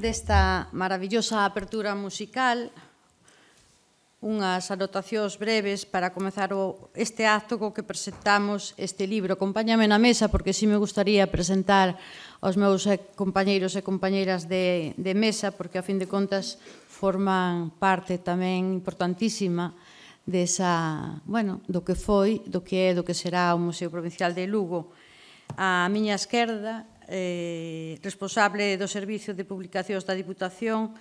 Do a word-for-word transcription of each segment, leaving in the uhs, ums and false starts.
Desta maravillosa apertura musical, unhas anotacións breves para comezar este acto co que presentamos este libro. Acompáñame na mesa porque si me gustaría presentar aos meus compañeiros e compañeiras de, de mesa, porque a fin de contas forman parte tamén importantísima desa, bueno, do que foi, do que é, do que será o Museo Provincial de Lugo. A miña esquerda, Eh, responsable do Servicio de Publicacións da Diputación,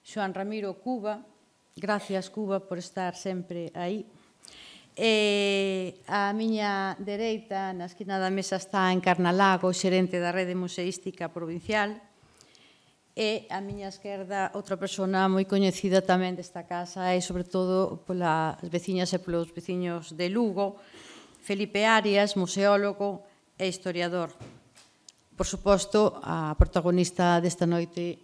Xoán Ramiro Cuba. Gracias, Cuba, por estar sempre aí. E a miña dereita, na esquina da mesa, está Encarna Lago, xerente da Rede Museística Provincial. E a miña esquerda, outra persona moi coñecida tamén desta casa e, sobre todo, polas veciñas e polos veciños de Lugo, Felipe Arias, museólogo e historiador. Por suposto, a protagonista desta noite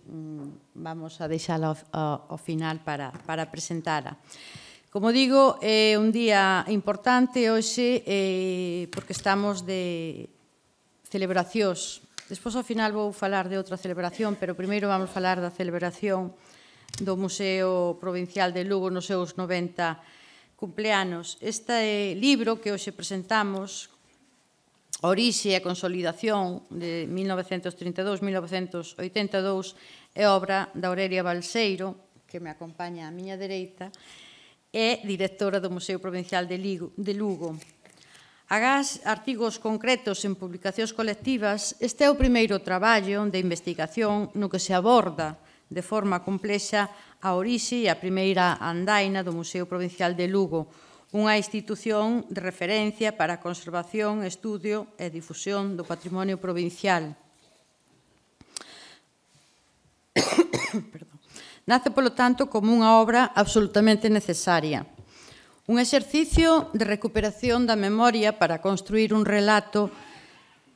vamos a deixala ao final para, para presentala. Como digo, é un día importante hoxe eh, porque estamos de celebracións. Despois, ao final, vou falar de outra celebración, pero primeiro vamos falar da celebración do Museo Provincial de Lugo nos seus noventa cumpleanos. Este libro que hoxe presentamos, Orixe e Consolidación, de mil novecentos trinta e dous a mil novecentos oitenta e dous, é obra da Aurelia Balseiro, que me acompaña á miña dereita, é directora do Museo Provincial de Lugo. Agás artigos concretos en publicacións colectivas, este é o primeiro traballo de investigación no que se aborda de forma complexa a orixe e a primeira andaina do Museo Provincial de Lugo, unha institución de referencia para a conservación, estudio e difusión do patrimonio provincial. Nace, polo tanto, como unha obra absolutamente necesaria. Un exercicio de recuperación da memoria para construir un relato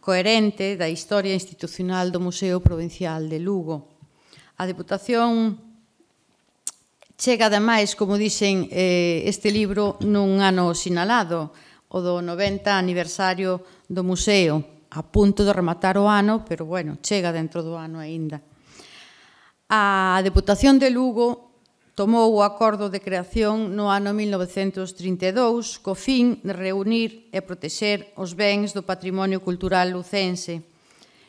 coherente da historia institucional do Museo Provincial de Lugo. A Deputación chega, ademais, como dixen, este libro nun ano sinalado, o do noventa aniversario do museo, a punto de rematar o ano, pero, bueno, chega dentro do ano aínda. A Deputación de Lugo tomou o acordo de creación no ano mil novecentos trinta e dous co fin de reunir e protexer os bens do patrimonio cultural lucense.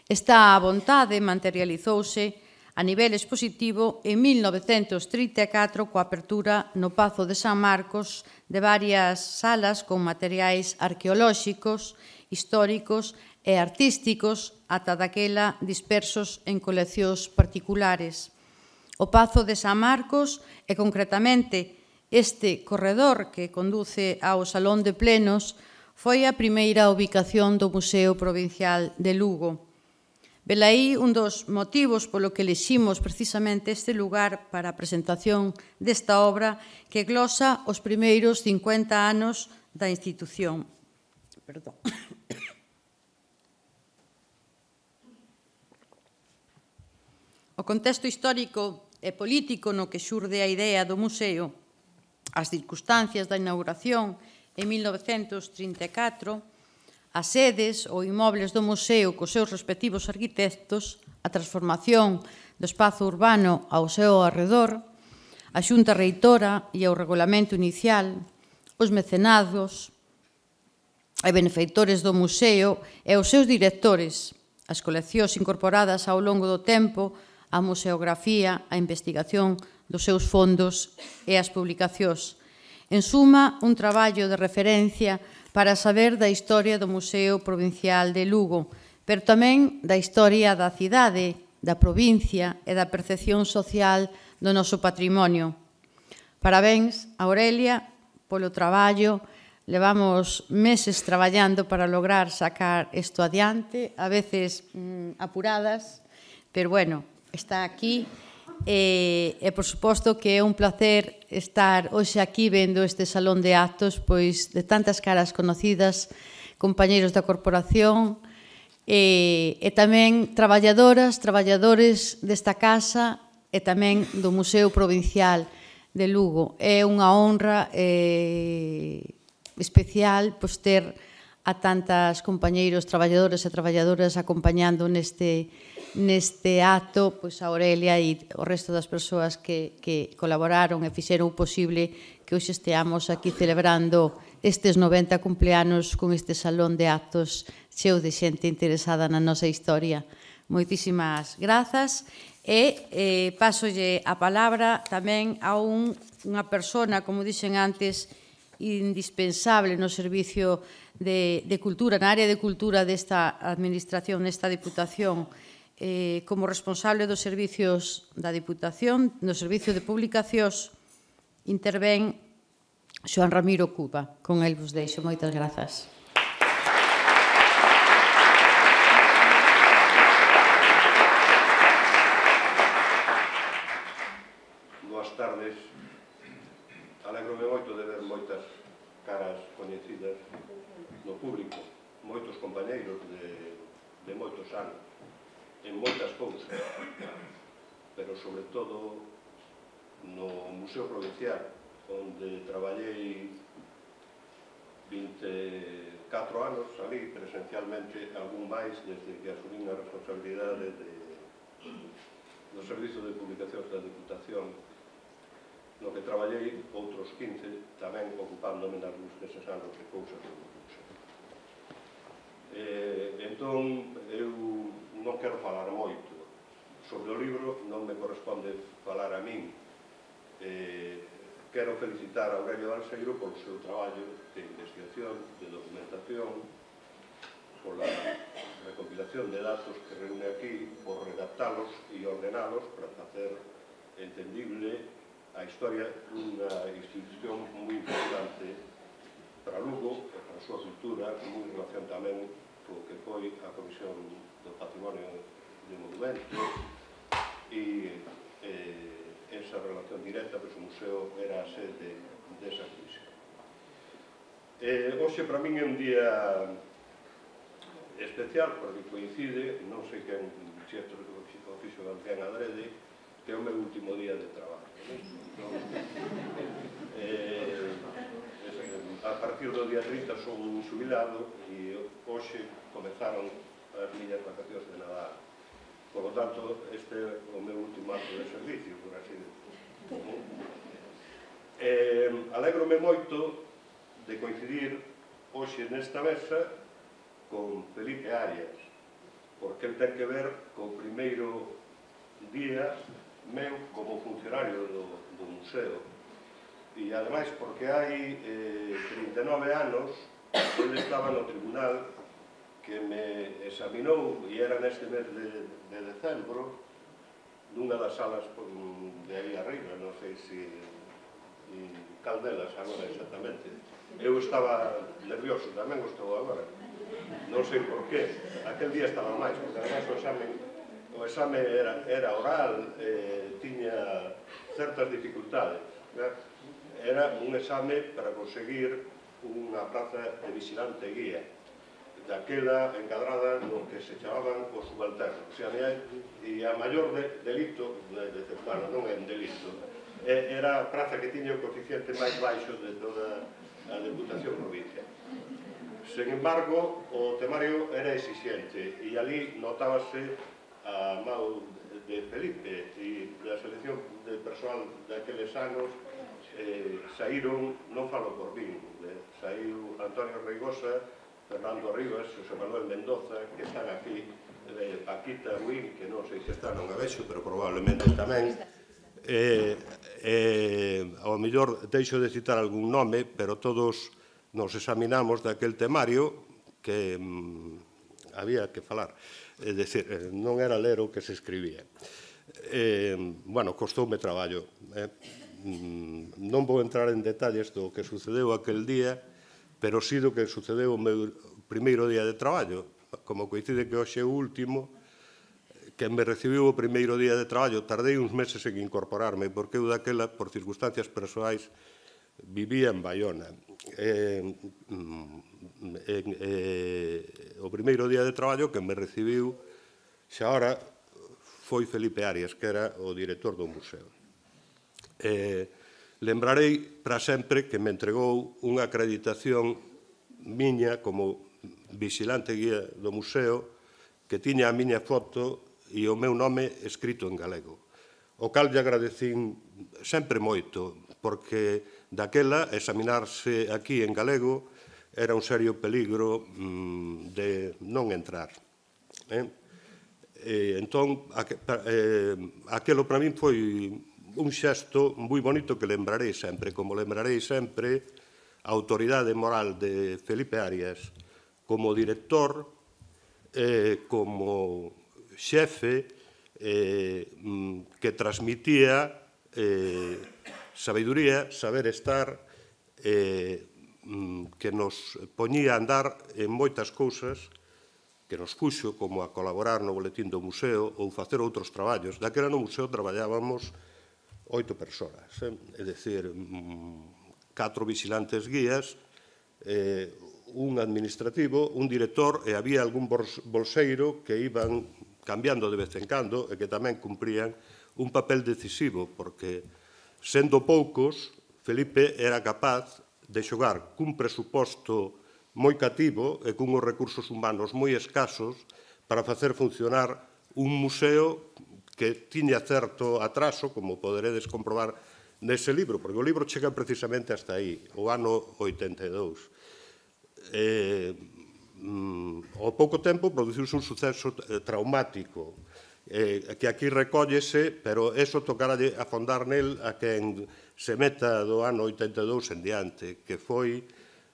Esta vontade materializouse a nivel expositivo en mil novecentos trinta e catro coa apertura no Pazo de San Marcos de varias salas con materiais arqueolóxicos, históricos e artísticos ata daquela dispersos en coleccións particulares. O Pazo de San Marcos e, concretamente, este corredor que conduce ao Salón de Plenos foi a primeira ubicación do Museo Provincial de Lugo. Velaí un dos motivos polo que eleximos precisamente este lugar para a presentación desta obra que glosa os primeiros cincuenta anos da institución. Perdón. O contexto histórico e político no que xurde a idea do museo, as circunstancias da inauguración en mil novecentos trinta e catro, as sedes ou inmobles do museo cos seus respectivos arquitectos, a transformación do espazo urbano ao seu arredor, a xunta reitora e o regulamento inicial, os mecenados e benefeitores do museo e os seus directores, as coleccións incorporadas ao longo do tempo, a museografía, a investigación dos seus fondos e as publicacións. En suma, un traballo de referencia para saber da historia do Museo Provincial de Lugo, pero tamén da historia da cidade, da provincia e da percepción social do noso patrimonio. Parabéns a Aurelia polo traballo. Levamos meses traballando para lograr sacar isto adiante, a veces mmm, apuradas, pero bueno, está aquí e, e por suposto que é un placer estar hoxe aquí vendo este salón de actos, pois de tantas caras conocidas, compañeiros da corporación e, e tamén traballadoras, traballadores desta casa e tamén do Museo Provincial de Lugo. É unha honra e especial pois, ter a tantas compañeiros, traballadores e traballadoras acompañando neste, neste acto pois, a Aurelia e o resto das persoas que, que colaboraron e fixeron posible que hoxe esteamos aquí celebrando estes noventa cumpleanos con este salón de actos cheo de xente interesada na nosa historia. Moitísimas grazas e eh, pasolle a palabra tamén a un, unha persona, como dixen antes, indispensable no servicio de, de cultura, na área de cultura desta administración, nesta Diputación, eh, como responsable dos servicios da Diputación, no servicio de publicacións, intervén Xoan Ramiro Cuba. Con el vos deixo. Moitas grazas. Boas tardes. Alegro-me moito de ver moitas caras coñecidas no público, moitos compañeiros de, de moitos anos, en moitas cousas, pero sobre todo no Museo Provincial, onde traballei vinte e catro anos ali, presencialmente, algún máis, desde que asumín a responsabilidade de, do Servizo de Publicacións da Diputación, no que traballei outros quince, tamén ocupándome nas luz deses anos de cousas do museo. Eh, entón, eu non quero falar moito sobre o libro, non me corresponde falar a min. Eh, quero felicitar a Aurelio Balseiro polo seu traballo de investigación, de documentación, pola recopilación de datos que reúne aquí, por redactalos e ordenalos para facer entendible a historia dunha institución moi importante para Lugo e para a súa cultura, moi en relación tamén co que foi a Comisión do Patrimonio de Monumentos e eh, esa relación directa, pois o museo era a sede desa comisión. Eh, hoxe para min é un día especial porque coincide, non sei quen xerto o fixo alguén adrede, que é o meu último día de traballo. Eh, a partir do día trinta son un xubilado e hoxe comezaron as miñas vacacións de Nadal. Por lo tanto, este é o meu último acto de servicio, por así decirlo. Eh, alegro-me moito de coincidir hoxe nesta mesa con Felipe Arias, porque ele ten que ver co primeiro día meu como funcionario do, do museo e ademais porque hai eh, trinta e nove anos ele estaba no tribunal que me examinou e era neste mes de, de decembro nunha das salas de aí arriba, non sei se cal delas agora exactamente. Eu estaba nervioso, tamén o estou agora, non sei por qué, aquel día estaba máis porque ademais o examen o exame era, era oral, eh, tiña certas dificultades. ¿Ver? Era un exame para conseguir unha plaza de vigilante guía, daquela encadrada no que se chamaban os subalternos. O sea, e a maior de, delito, de, de, bueno, non é un delito, era a praza que tiña o coeficiente máis baixo de toda a Deputación Provincial. Sen embargo, o temario era exixente e ali notábase a mão de Felipe e da selección de persoal daqueles anos eh, saíron, non falo por min, eh, saiu Antonio Reigosa, Fernando Rivas, José Manuel Mendoza, que están aquí, eh, Paquita Win, que non sei se está, non a vexo, pero probablemente tamén. Eh, eh, ao mellor deixo de citar algún nome, pero todos nos examinamos daquel temario que mm, había que falar. É dicir, non era ler o que se escribía. Eh, bueno, costoume traballo. Eh. Non vou entrar en detalles do que sucedeu aquel día, pero sí do que sucedeu o meu primeiro día de traballo. Como coincide que hoxe é o último, que me recibiu o primeiro día de traballo, tardei uns meses en incorporarme, porque eu daquela, por circunstancias persoais, vivía en Baiona. Eh, eh, eh, o primeiro día de traballo que me recibiu xa ora foi Felipe Arias, que era o director do museo. Eh, lembrarei para sempre que me entregou unha acreditación miña como vigilante guía do museo que tiña a miña foto e o meu nome escrito en galego. O cal lle agradecín sempre moito, porque daquela examinarse aquí en galego era un serio peligro mm, de non entrar. Eh? E, entón, aqu eh, aquelo para min foi un xesto moi bonito que lembrarei sempre, como lembrarei sempre a autoridade moral de Felipe Arias como director, eh, como xefe eh, que transmitía eh, sabiduría, saber estar, eh, que nos poñía a andar en moitas cousas que nos puxo, como a colaborar no boletín do museo ou facer outros traballos. Daquela no museo traballábamos oito persoas, eh? É dicir, catro vigilantes guías, eh, un administrativo, un director e había algún bolseiro que iban cambiando de vez en cando e que tamén cumprían un papel decisivo, porque, sendo poucos, Felipe era capaz de xogar cun presuposto moi cativo e cunhos recursos humanos moi escasos para facer funcionar un museo que tiña certo atraso, como poderedes comprobar nese libro, porque o libro chega precisamente hasta aí, o ano oitenta e dous. Eh, mm, ao pouco tempo produciuse un suceso traumático, eh, que aquí recóllese, pero eso tocará afondar nel a quen se meta do ano oitenta e dous en diante, que foi,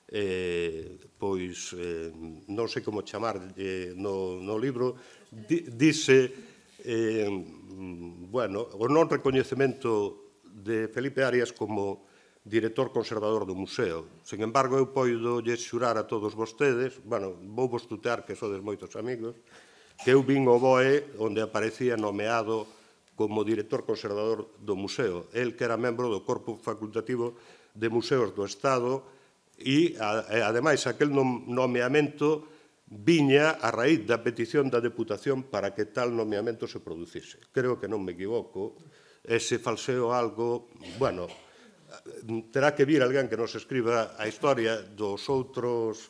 eh, pois, eh, non sei como chamar, eh, no, no libro, di, dice, eh, bueno, o non recoñecemento de Felipe Arias como director conservador do museo. Sen embargo, eu poido lle xurar a todos vostedes, bueno, vou vos tutear que sodes moitos amigos, que eu vin o B O E onde aparecía nomeado como director conservador do museo. El que era membro do Corpo Facultativo de Museos do Estado e, ademais, aquel nomeamento viña a raíz da petición da Deputación para que tal nomeamento se producise. Creo que non me equivoco. Ese falseo algo, bueno, terá que vir alguén que nos escriba a historia dos outros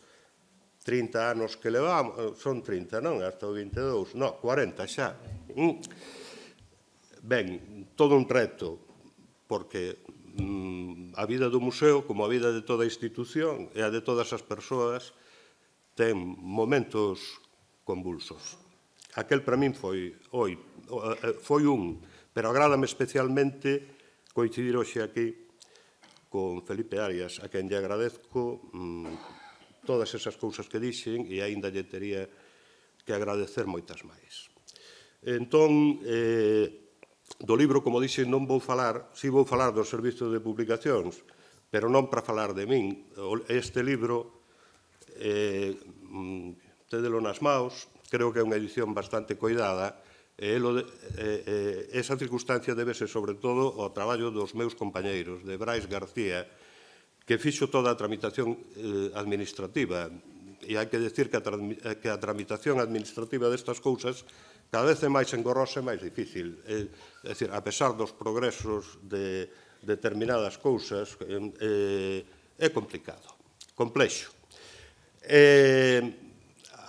trinta anos que levamos, son trinta, non? Hasta o vinte e dous, non, cuarenta xa. Ben, todo un reto, porque a vida do museo, como a vida de toda a institución e a de todas as persoas, ten momentos convulsos. Aquel para min foi, oi, foi un, pero agrádame especialmente coincidir hoxe aquí con Felipe Arias, a quen lle agradezco todas esas cousas que dixen e aínda lle tería que agradecer moitas máis. Entón, do libro, como dixen, non vou falar, si vou falar do servizo de publicacións, pero non para falar de min. Este libro, tédelo nas maus, creo que é unha edición bastante coidada, e esa circunstancia débese sobre todo ao traballo dos meus compañeiros, de Brais García, que fixo toda a tramitación administrativa. E hai que decir que a tramitación administrativa destas cousas cada vez é máis engorrosa e máis difícil. É dicir, a pesar dos progresos de determinadas cousas, é complicado, complexo.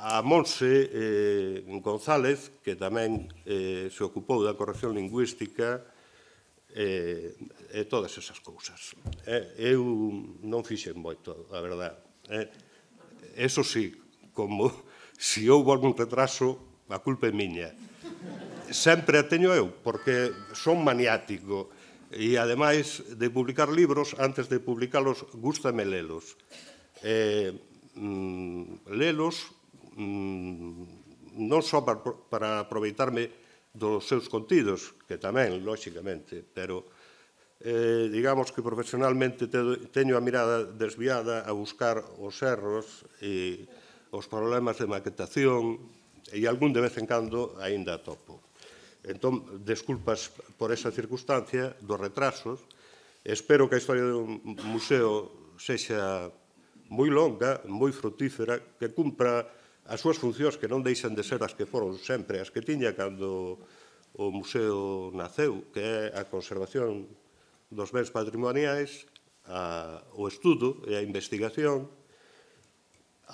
A Monse González, que tamén se ocupou da corrección lingüística e todas esas cousas. Eu non fixen moito, a verdade. Eso sí, como se houve algún retraso, a culpa é miña. Sempre a teño eu, porque son maniático. E, ademais de publicar libros, antes de publicalos, gústame lelos. Lelos non só para aproveitarme dos seus contidos, que tamén, lóxicamente, pero digamos que profesionalmente teño a mirada desviada a buscar os erros e os problemas de maquetación e algún de vez en cando aínda topo. Entón, desculpas por esa circunstancia dos retrasos. Espero que a historia do museo sexa moi longa, moi frutífera, que cumpra as súas funcións, que non deixan de ser as que foron sempre, as que tiña cando o museo naceu, que é a conservación dos bens patrimoniais, o estudo e a investigación,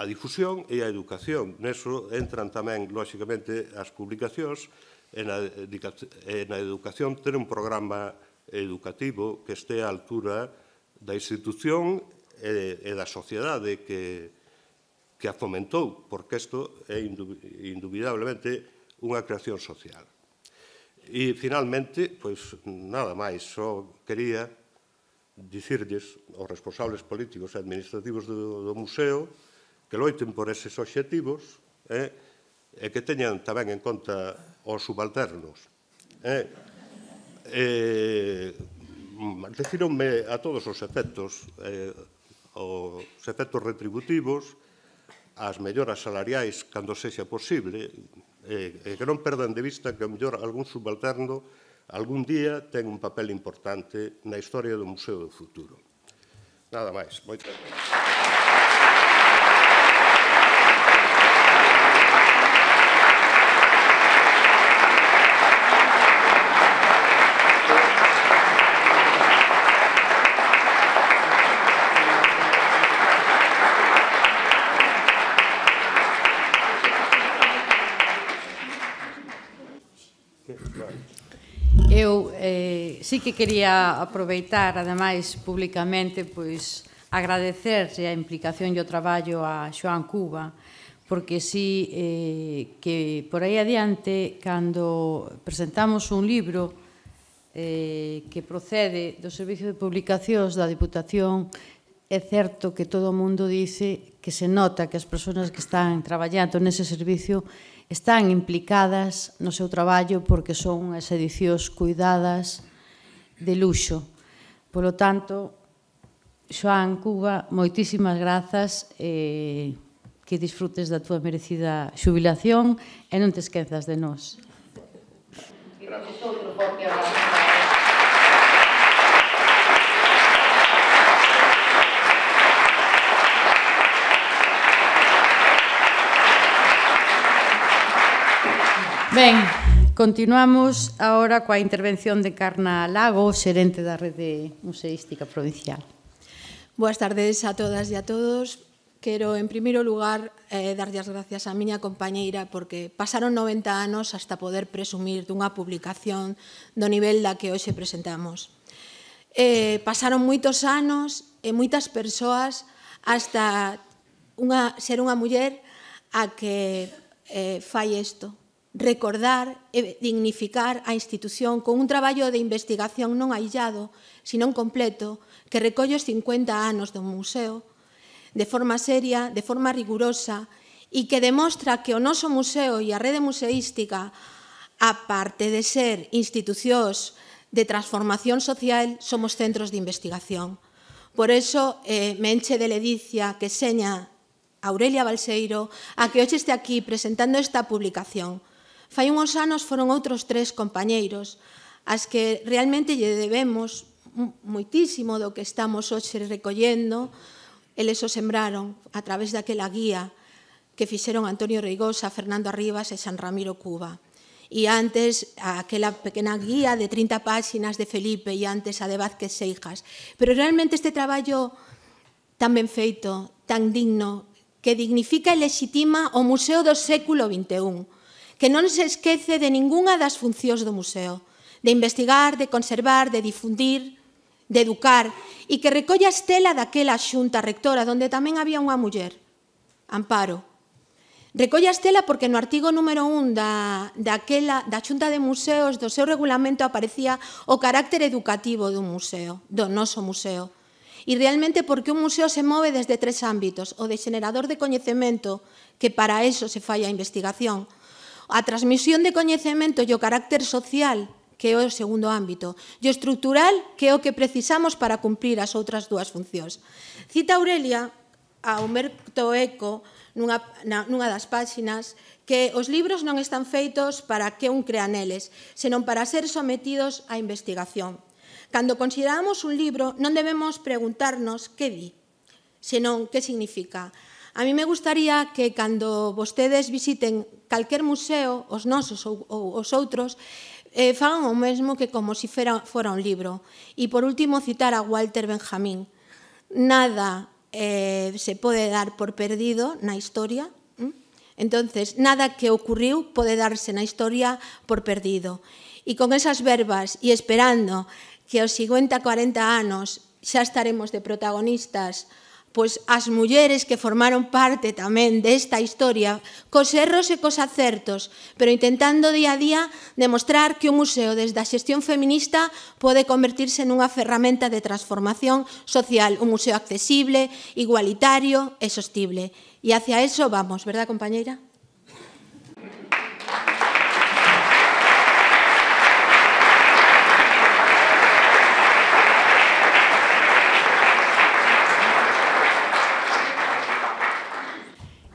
a difusión e a educación. Neso entran tamén, lóxicamente, as publicacións e na educación ter un programa educativo que este á altura da institución e da sociedade que que a fomentou, porque isto é indubidablemente unha creación social. E, finalmente, pois, nada máis, só quería dicirlles aos responsables políticos e administrativos do museo que loiten por eses obxectivos e que teñan tamén en conta os subalternos. Refíronme a todos os efectos, os efectos retributivos, as melloras salariais cando sexa posible, e que non perdan de vista que, ao mellor, algún subalterno algún día ten un papel importante na historia do Museo do Futuro. Nada máis. Moitas gracias. Eu sí que quería aproveitar, ademais, publicamente, pois, agradecerse a implicación e o traballo a Xoán Cuba, porque sí que por aí adiante, cando presentamos un libro que procede do Servicio de Publicacións da Diputación, é certo que todo o mundo dice que se nota que as persoas que están traballando nese servicio están implicadas no seu traballo porque son unhas edicións cuidadas de luxo. Polo tanto, Xoán Cuba, moitísimas grazas e que disfrutes da túa merecida xubilación e non te esquezas de nós. Gracias. Ben, continuamos agora coa intervención de Carna Lago, xerente da Rede Museística Provincial. Boas tardes a todas e a todos. Quero, en primeiro lugar, darlle as gracias á miña compañeira porque pasaron noventa anos hasta poder presumir dunha publicación do nivel da que hoxe presentamos. Pasaron moitos anos e moitas persoas hasta ser unha muller a que fai isto. Recordar e dignificar a institución con un traballo de investigación non aillado, sino completo, que recolle os cincuenta anos do museo, de forma seria, de forma rigurosa, e que demostra que o noso museo e a rede museística, aparte de ser institucións de transformación social, somos centros de investigación. Por iso, me enche de ledicia que seña Aurelia Balseiro a que hoxe este aquí presentando esta publicación. Fai unhos anos foron outros tres compañeiros as que realmente lle debemos moitísimo do que estamos hoxe recollendo. Eles o sembraron a través daquela guía que fixeron Antonio Reigosa, Fernando Arribas e San Ramiro Cuba. E antes, aquela pequena guía de trinta páxinas de Felipe e antes a de Vázquez Seijas. Pero realmente este traballo tan ben feito, tan digno, que dignifica e lexitima o museo do século vinte e un, que non se esquece de ningunha das funcións do museo, de investigar, de conservar, de difundir, de educar, e que recolle a estela daquela xunta rectora, onde tamén había unha muller, Amparo. Recolle a estela porque no artigo número un da, daquela, da Xunta de Museos do seu regulamento aparecía o carácter educativo dun museo, do noso museo. E realmente porque un museo se move desde tres ámbitos, o de xenerador de coñecemento, que para eso se fai a investigación, a transmisión de coñecemento e o carácter social, que é o segundo ámbito, e o estrutural, que é o que precisamos para cumprir as outras dúas funcións. Cita Aurelia a Humberto Eco, nunha, na, nunha das páxinas, que os libros non están feitos para que un crea neles, senón para ser sometidos á investigación. Cando consideramos un libro, non debemos preguntarnos que di, senón que significa. A mí me gustaría que cando vostedes visiten calquer museo, os nosos ou, ou os outros, eh, fagan o mesmo que como se si fora un libro. E por último citar a Walter Benjamin. Nada Eh, se pode dar por perdido na historia. Entonces, nada que ocurriu pode darse na historia por perdido. E con esas verbas e esperando que aos cincuenta, cuarenta anos xa estaremos de protagonistas, pois as mulleres que formaron parte tamén desta historia, cos erros e cos acertos, pero intentando día a día demostrar que o museo desde a xestión feminista pode convertirse nunha ferramenta de transformación social, un museo accesible, igualitario e sostible. E hacia eso vamos, verdad, compañeira?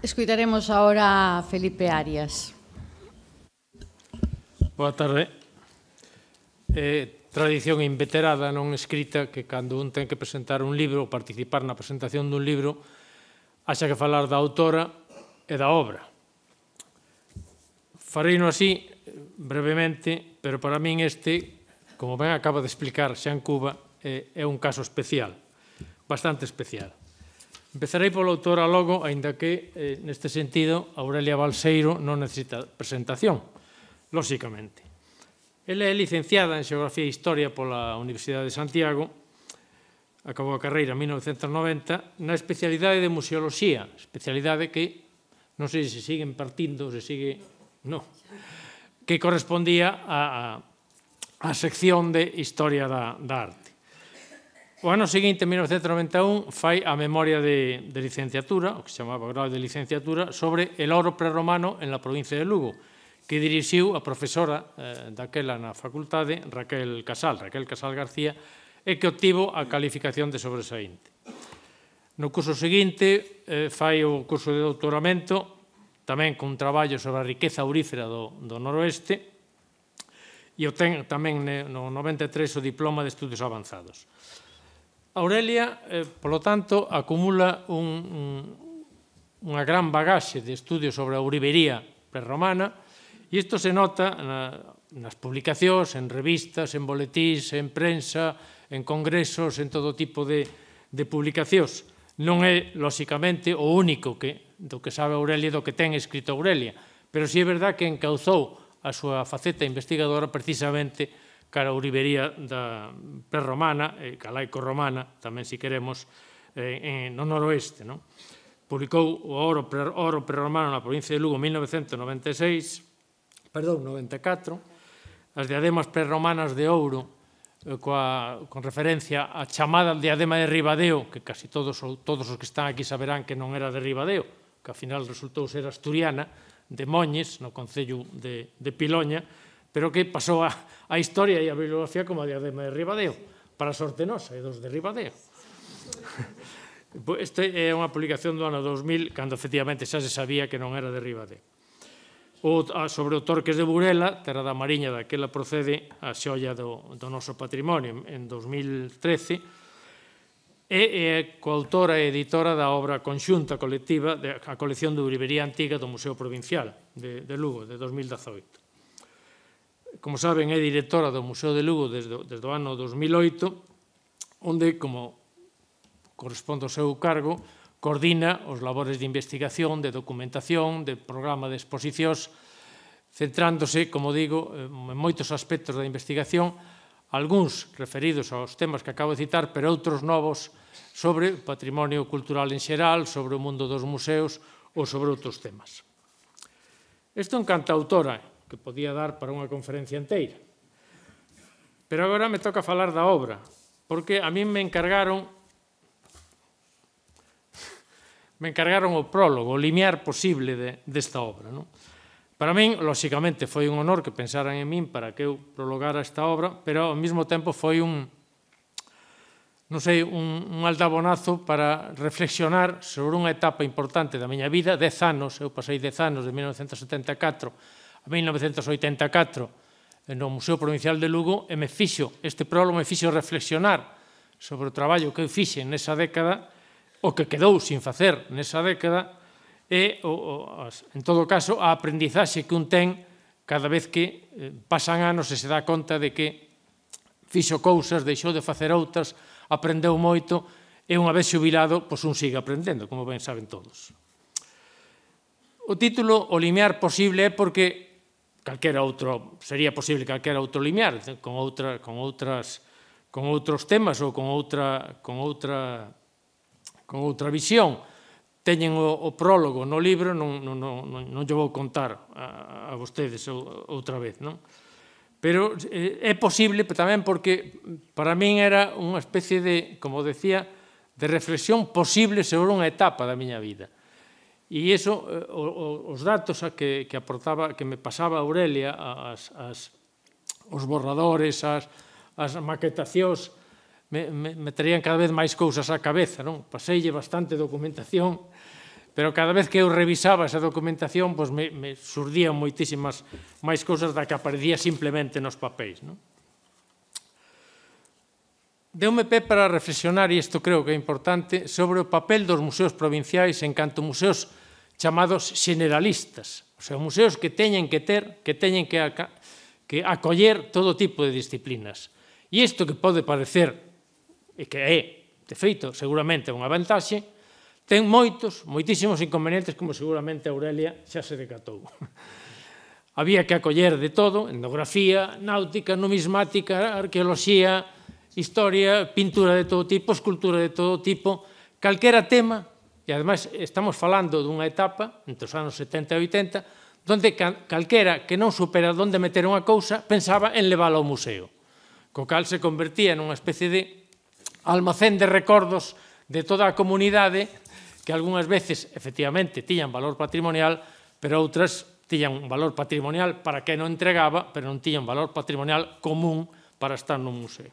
Escutaremos agora a Felipe Arias. Boa tarde. Eh, tradición inveterada non escrita que cando un ten que presentar un libro ou participar na presentación dun libro haxa que falar da autora e da obra. Fareino así, brevemente, pero para min este, como ben acaba de explicar Xan Cuba, é, é un caso especial, bastante especial. Empezarei pola autora logo, aínda que, eh, neste sentido, Aurelia Balseiro non necesita presentación, lóxicamente. Ela é licenciada en Xeografía e Historia pola Universidade de Santiago, acabou a carreira en mil novecentos noventa, na especialidade de Museoloxía, especialidade que, non sei se sigue impartindo, se sigue... non, que correspondía á sección de Historia da, da Arte. O ano seguinte, en mil novecentos noventa e un, fai a memoria de, de licenciatura, o que se chamaba grado de licenciatura, sobre el oro prerromano en la provincia de Lugo, que dirixiu a profesora eh, daquela na facultade, Raquel Casal, Raquel Casal García, e que obtivo a calificación de sobresaínte. No curso seguinte, eh, fai o curso de doutoramento, tamén con traballo sobre a riqueza aurífera do, do noroeste, e obtén tamén no noventa e tres o diploma de estudios avanzados. Aurelia, eh, polo tanto, acumula un, un, unha gran bagaxe de estudios sobre a ourivería prerromana e isto se nota na, nas publicacións, en revistas, en boletíns, en prensa, en congresos, en todo tipo de, de publicacións. Non é, lóxicamente, o único que, do que sabe Aurelia, do que ten escrito Aurelia, pero si é verdad que encauzou a súa faceta investigadora precisamente cara a ourivería da prerromana e calaico-romana, tamén se queremos, eh, no noroeste. Non? Publicou o oro, oro prerromano na provincia de Lugo en mil novecentos noventa e seis, perdón, noventa e catro, as diademas prerromanas de ouro, eh, coa, con referencia á chamada diadema de Ribadeo, que casi todos, todos os que están aquí saberán que non era de Ribadeo, que ao final resultou ser asturiana, de Moñes, no concello de, de Piloña, pero que pasou a, a historia e a bibliografía como a diadema de Ribadeo, para sorte nosa e dos de Ribadeo. Esta é unha publicación do ano dos mil, cando efectivamente xa se sabía que non era de Ribadeo. O, sobre o Torques de Burela, Terra da Mariña, daquela procede a xoia do, do noso patrimonio en dos mil trece, e é coautora e editora da obra conxunta colectiva da colección de ourivería antiga do Museo Provincial de, de Lugo, de dos mil dezoito. Como saben, é directora do Museo de Lugo desde, desde o ano dos mil oito, onde, como corresponde ao seu cargo, coordina os labores de investigación, de documentación, de programa de exposicións, centrándose, como digo, en moitos aspectos da investigación, algúns referidos aos temas que acabo de citar, pero outros novos sobre patrimonio cultural en xeral, sobre o mundo dos museos ou sobre outros temas. Isto é un cantautora que podía dar para unha conferencia inteira. Pero agora me toca falar da obra, porque a mí me encargaron me encargaron o prólogo, o limiar posible desta obra, non? Para min, lóxicamente, foi un honor que pensaran en min para que eu prologara esta obra, pero ao mesmo tempo foi un, non sei, un, un aldabonazo para reflexionar sobre unha etapa importante da miña vida, dez anos, eu pasei dez anos, de mil novecentos setenta e catro a mil novecentos oitenta e catro, no Museo Provincial de Lugo, e me fixo, este prólogo me fixo reflexionar sobre o traballo que eu fixe nesa década, o que quedou sin facer nesa década, e, en todo caso, a aprendizaxe que un ten cada vez que pasan anos e se dá conta de que fixo cousas, deixou de facer outras, aprendeu moito, e unha vez xubilado, pois un sigue aprendendo, como ben saben todos. O título, O limiar posible, é porque calquera outro, sería posible calquera outro limiar, con outra, con outras, con outros temas ou con outra, con outra, con outra visión. Teñen o, o prólogo no libro, non, non, non, non lle vou contar a, a vostedes outra vez, non? Pero eh, é posible tamén porque para min era unha especie de, como decía, de reflexión posible sobre unha etapa da miña vida. E iso, eh, os datos a que, que aportaba, que me pasaba Aurelia, as, as, os borradores, as, as maquetacións, me, me, me traían cada vez máis cousas á cabeza, non? Paseille bastante documentación, pero cada vez que eu revisaba esa documentación, pois me, me surdían moitísimas máis cousas da que aparecía simplemente nos papéis, non? Deume pé para reflexionar, e isto creo que é importante, sobre o papel dos museos provinciais en canto museos chamados generalistas, o sea, museos que teñen que ter, que teñen que, que acoller todo tipo de disciplinas. E isto que pode parecer, e que é, de feito, seguramente unha vantaxe, ten moitos, moitísimos inconvenientes, como seguramente Aurelia xa se decatou. Había que acoller de todo, etnografía, náutica, numismática, arqueoloxía, historia, pintura de todo tipo, escultura de todo tipo, calquera tema, e ademais estamos falando dunha etapa, entre os anos setenta e oitenta, onde calquera que non supera onde meter unha cousa pensaba en levála ao museo, co cal se convertía nunha especie de almacén de recordos de toda a comunidade que algunhas veces, efectivamente, tiñan valor patrimonial, pero outras tiñan un valor patrimonial para quen o entregaba, pero non tiñan valor patrimonial común para estar nun museo.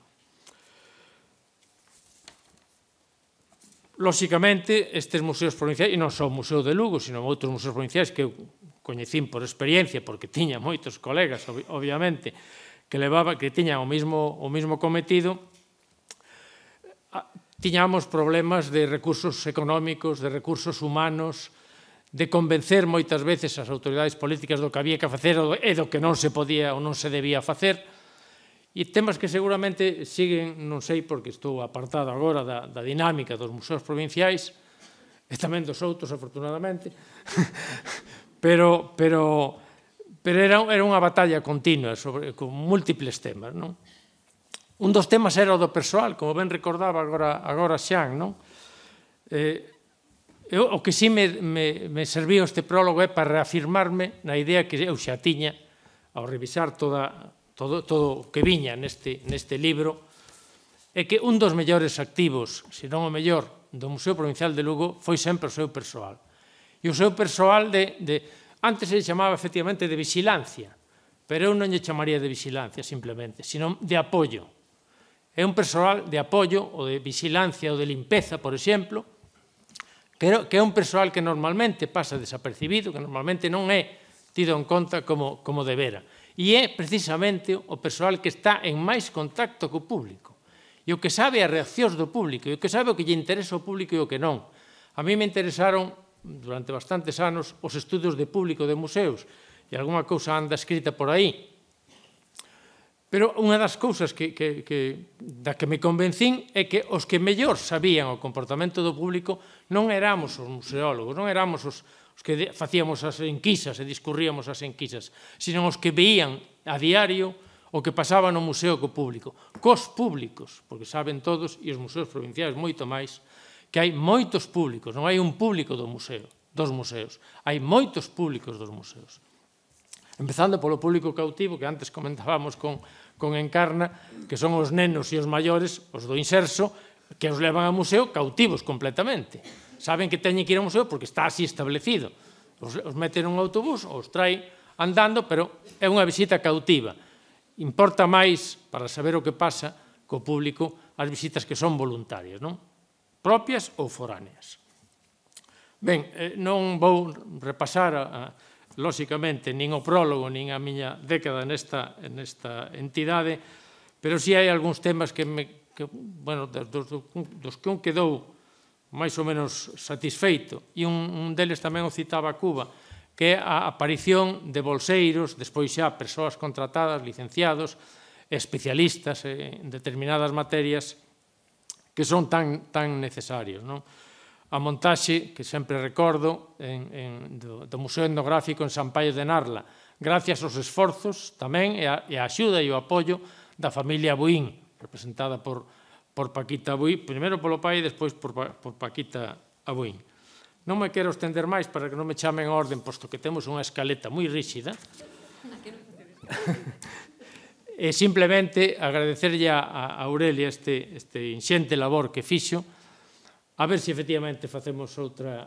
Lóxicamente, estes museos provinciais, e non só o Museo de Lugo, sino outros museos provinciais que eu coñecín por experiencia, porque tiña moitos colegas, obviamente, que levaba, que tiñan o mesmo, o mesmo cometido, tiñamos problemas de recursos económicos, de recursos humanos, de convencer moitas veces as autoridades políticas do que había que facer e do que non se podía ou non se debía facer, e temas que seguramente siguen, non sei, porque estou apartado agora da, da dinámica dos museos provinciais, e tamén dos outros, afortunadamente, pero, pero, pero era, era unha batalla continua sobre, con múltiples temas, non? Un dos temas era o do persoal, como ben recordaba agora, agora Xan, non? Eh, eu, o que sí me, me, me serviu este prólogo é para reafirmarme na idea que eu xa tiña ao revisar toda, todo, todo o que viña neste, neste libro, é que un dos mellores activos, se non o mellor, do Museo Provincial de Lugo foi sempre o seu persoal. E o seu persoal de, de antes se chamaba efectivamente de vigilancia, pero eu non lle chamaría de vigilancia simplemente, sino de apoio. É un persoal de apoio ou de vigilancia ou de limpeza, por exemplo, que é un persoal que normalmente pasa desapercibido, que normalmente non é tido en conta como, como debera. E é precisamente o persoal que está en máis contacto co público. E o que sabe as reaccións do público, e o que sabe o que lle interesa ao público e o que non. A mí me interesaron, durante bastantes anos, os estudos de público de museos, e algunha cousa anda escrita por aí. Pero unha das cousas que, que, que, da que me convencín é que os que mellor sabían o comportamento do público non éramos os museólogos, non éramos os, os que facíamos as enquisas e discurríamos as enquisas, sino os que veían a diario o que pasaba no museo co público, cos públicos, porque saben todos, e os museos provinciais moito máis, que hai moitos públicos, non hai un público do museo, dos museos, hai moitos públicos dos museos. Empezando polo público cautivo, que antes comentábamos con, con Encarna, que son os nenos e os maiores, os do inserso, que os levan ao museo cautivos completamente. Saben que teñen que ir ao museo porque está así establecido. Os, os meten nun autobús, os trae andando, pero é unha visita cautiva. Importa máis, para saber o que pasa co público, as visitas que son voluntarias, non? Propias ou foráneas. Ben, eh, non vou repasar a, a lóxicamente, nin o prólogo, nin a miña década nesta, nesta entidade, pero si hai algúns temas que, me, que bueno, dos, dos que un quedou máis ou menos satisfeito, e un, un deles tamén o citaba a Cuba, que é a aparición de bolseiros, despois xa persoas contratadas, licenciados, especialistas en determinadas materias que son tan, tan necesarios, non? A montaxe, que sempre recordo, en, en, do, do Museo Etnográfico en San Paio de Narla, gracias aos esforzos tamén e a, e a axuda e o apoio da familia Buín, representada por, por Paquita Buín, primeiro polo pai e despois por, por Paquita Buín. Non me quero estender máis para que non me chamen a orden, posto que temos unha escaleta moi ríxida. E simplemente agradecerlle a, a Aurelia este, este inxente labor que fixo, a ver se efectivamente facemos outra,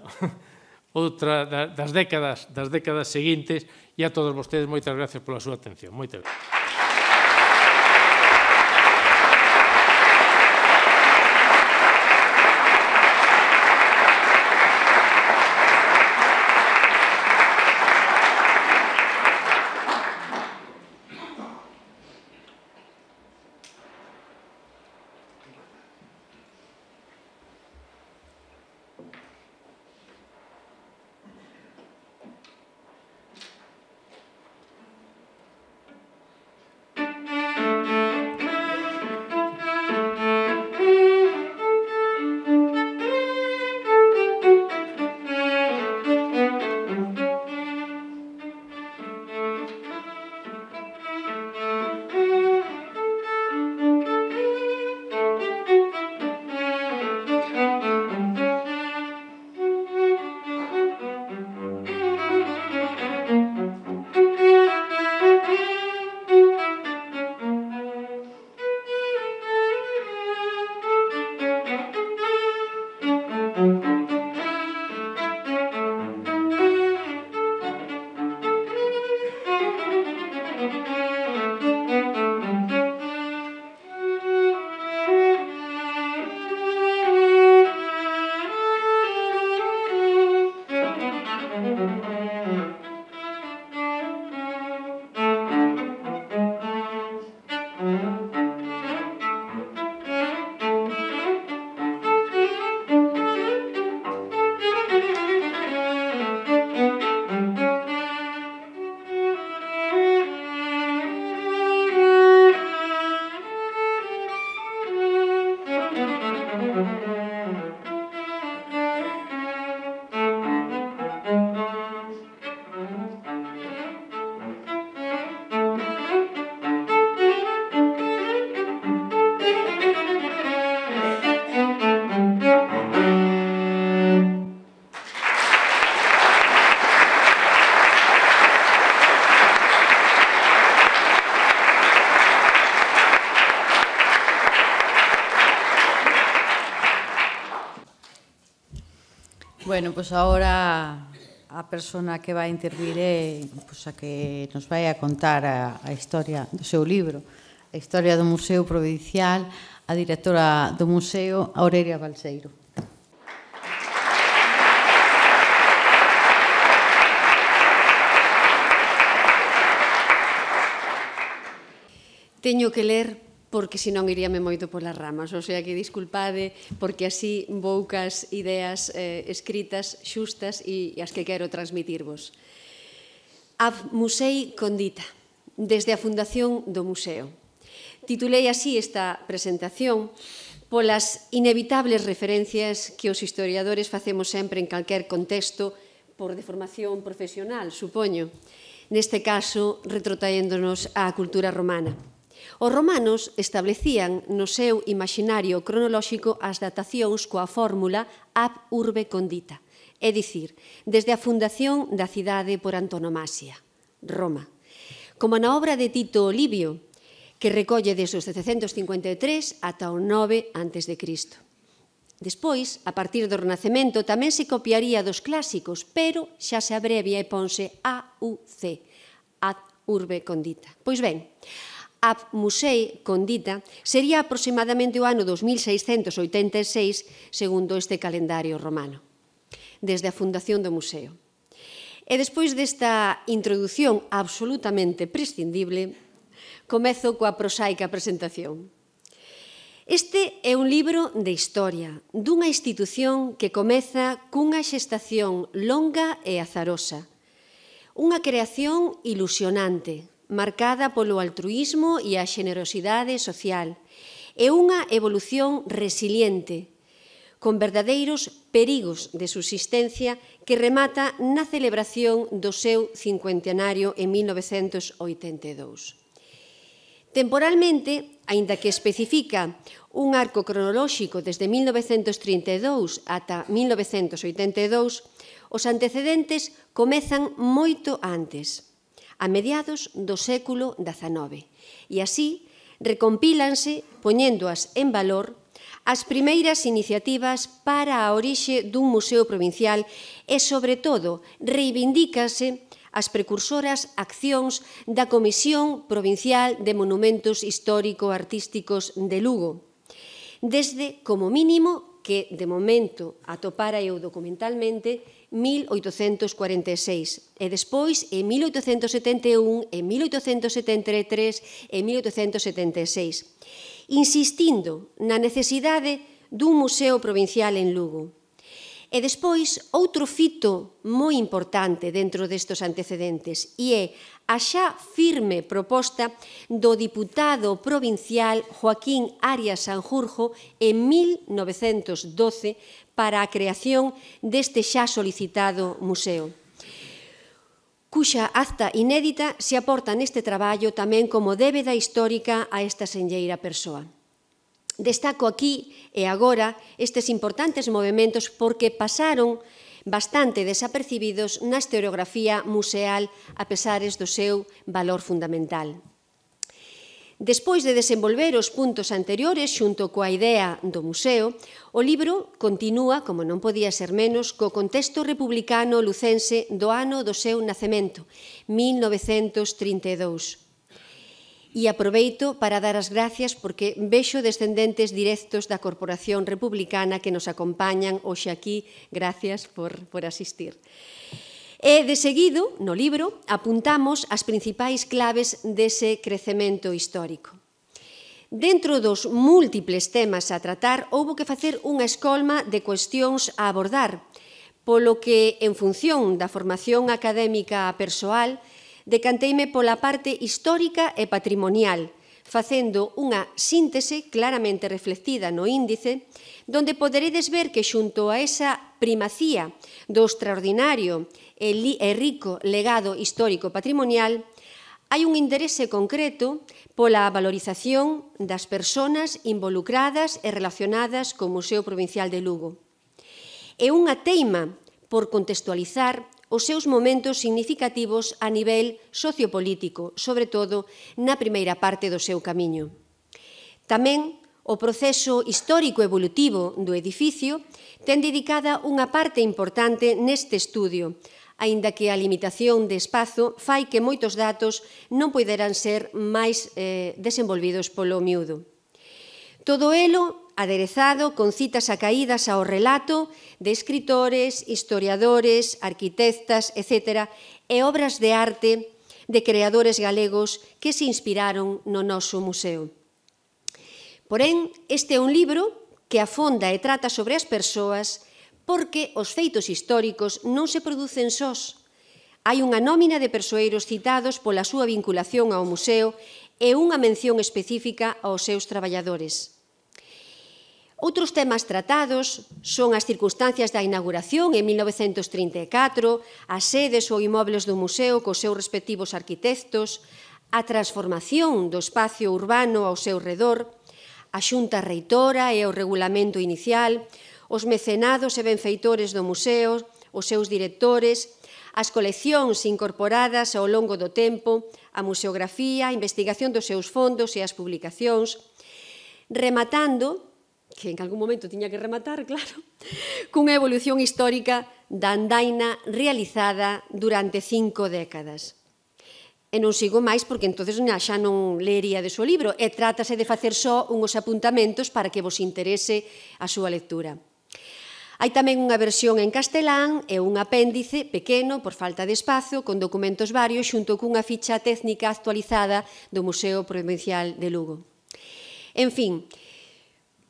outra das décadas, das décadas seguintes, e a todos vostedes moitas gracias pola súa atención. Moitas gracias. Bueno, pois agora a persona que vai intervir é pois, a que nos vai a contar a, a historia do seu libro, a historia do Museo Provincial, a directora do museo, Aurelia Balseiro. Teño que ler porque senón iríame moito polas ramas, o sea que disculpade porque así poucas ideas eh, escritas xustas e as que quero transmitirvos. Ab Musei Condita, desde a fundación do museo. Titulei así esta presentación polas inevitables referencias que os historiadores facemos sempre en calquer contexto por deformación profesional, supoño. Neste caso, retrotraéndonos á cultura romana. Os romanos establecían no seu imaginario cronolóxico as datacións coa fórmula ab urbe condita, é dicir, desde a fundación da cidade por antonomasia, Roma. Como na obra de Tito Livio, que recolle desde os setecentos cincuenta e tres ata o nove antes de Cristo. Despois, a partir do Renacemento, tamén se copiaría dos clásicos, pero xa se abrevia e ponse A U C, ad urbe condita. Pois ben, ab musei condita sería aproximadamente o ano dos mil seiscentos oitenta e seis, segundo este calendario romano, desde a fundación do museo. E despois desta introdución absolutamente prescindible, comezo coa prosaica presentación. Este é un libro de historia dunha institución que comeza cunha xestación longa e azarosa, unha creación ilusionante, marcada polo altruísmo e a xenerosidade social, e unha evolución resiliente, con verdadeiros perigos de subsistencia que remata na celebración do seu cincuentenario en mil novecentos oitenta e dous. Temporalmente, aínda que especifica un arco cronolóxico desde mil novecentos trinta e dous ata mil novecentos oitenta e dous, os antecedentes comezan moito antes, a mediados do século dezanove, e así recompílanse, poñéndoas en valor, as primeiras iniciativas para a orixe dun museo provincial e, sobre todo, reivindícase as precursoras accións da Comisión Provincial de Monumentos Histórico-Artísticos de Lugo, desde, como mínimo, que, de momento, atopara eu documentalmente, mil oitocentos cuarenta e seis, e despois, en mil oitocentos setenta e un, en mil oitocentos setenta e tres e mil oitocentos setenta e seis, insistindo na necesidade dun museo provincial en Lugo. E despois, outro fito moi importante dentro destes antecedentes, e é a xa firme proposta do diputado provincial Joaquín Arias Sanjurjo en mil novecentos doce para a creación deste xa solicitado museo, cuxa acta inédita se aporta neste traballo tamén como débeda histórica a esta senlleira persoa. Destaco aquí e agora estes importantes movementos porque pasaron bastante desapercibidos na historiografía museal a pesares do seu valor fundamental. Despois de desenvolver os puntos anteriores xunto coa idea do museo, o libro continúa, como non podía ser menos, co contexto republicano lucense do ano do seu nacemento, mil novecentos trinta e dous. E aproveito para dar as gracias porque vexo descendentes directos da Corporación Republicana que nos acompañan hoxe aquí. Gracias por, por asistir. E, de seguido, no libro, apuntamos as principais claves dese crecemento histórico. Dentro dos múltiples temas a tratar, houbo que facer unha escolma de cuestións a abordar, polo que, en función da formación académica persoal, decanteime pola parte histórica e patrimonial, facendo unha síntese claramente reflectida no índice, donde poderedes ver que xunto a esa primacía do extraordinario e rico legado histórico patrimonial, hai un interese concreto pola valorización das persoas involucradas e relacionadas co Museo Provincial de Lugo. E unha teima por contextualizar os seus momentos significativos a nivel sociopolítico, sobre todo na primeira parte do seu camiño. Tamén o proceso histórico evolutivo do edificio ten dedicada unha parte importante neste estudio, aínda que a limitación de espazo fai que moitos datos non poideran ser máis eh, desenvolvidos polo miúdo. Todo elo aderezado con citas acaídas ao relato de escritores, historiadores, arquitectas, etcétera, e obras de arte de creadores galegos que se inspiraron no noso museo. Porén, este é un libro que afonda e trata sobre as persoas porque os feitos históricos non se producen sós. Hai unha nómina de persoeiros citados pola súa vinculación ao museo e unha mención específica aos seus traballadores. Outros temas tratados son as circunstancias da inauguración en mil novecentos trinta e catro, as sedes ou inmobles do museo cos seus respectivos arquitectos, a transformación do espacio urbano ao seu redor, a xunta reitora e o regulamento inicial, os mecenados e benfeitores do museo, os seus directores, as coleccións incorporadas ao longo do tempo, a museografía, a investigación dos seus fondos e as publicacións, rematando, que en algún momento tiña que rematar, claro, cunha evolución histórica da andaina realizada durante cinco décadas. E non sigo máis porque entonces xa non leería de súa libro, e trátase de facer só unhos apuntamentos para que vos interese a súa lectura. Hai tamén unha versión en castelán e un apéndice pequeno, por falta de espazo, con documentos varios, xunto cunha ficha técnica actualizada do Museo Provincial de Lugo. En fin,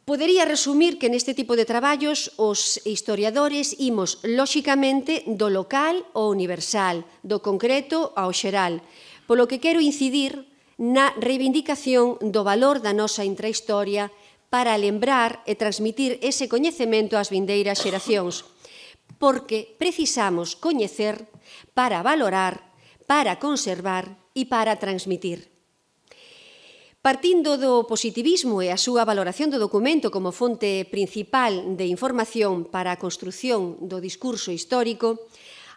podería resumir que neste tipo de traballos os historiadores imos, lóxicamente, do local ao universal, do concreto ao xeral, polo que quero incidir na reivindicación do valor da nosa intrahistoria para lembrar e transmitir ese coñecemento ás vindeiras xeracións, porque precisamos coñecer para valorar, para conservar e para transmitir. Partindo do positivismo e a súa valoración do documento como fonte principal de información para a construción do discurso histórico,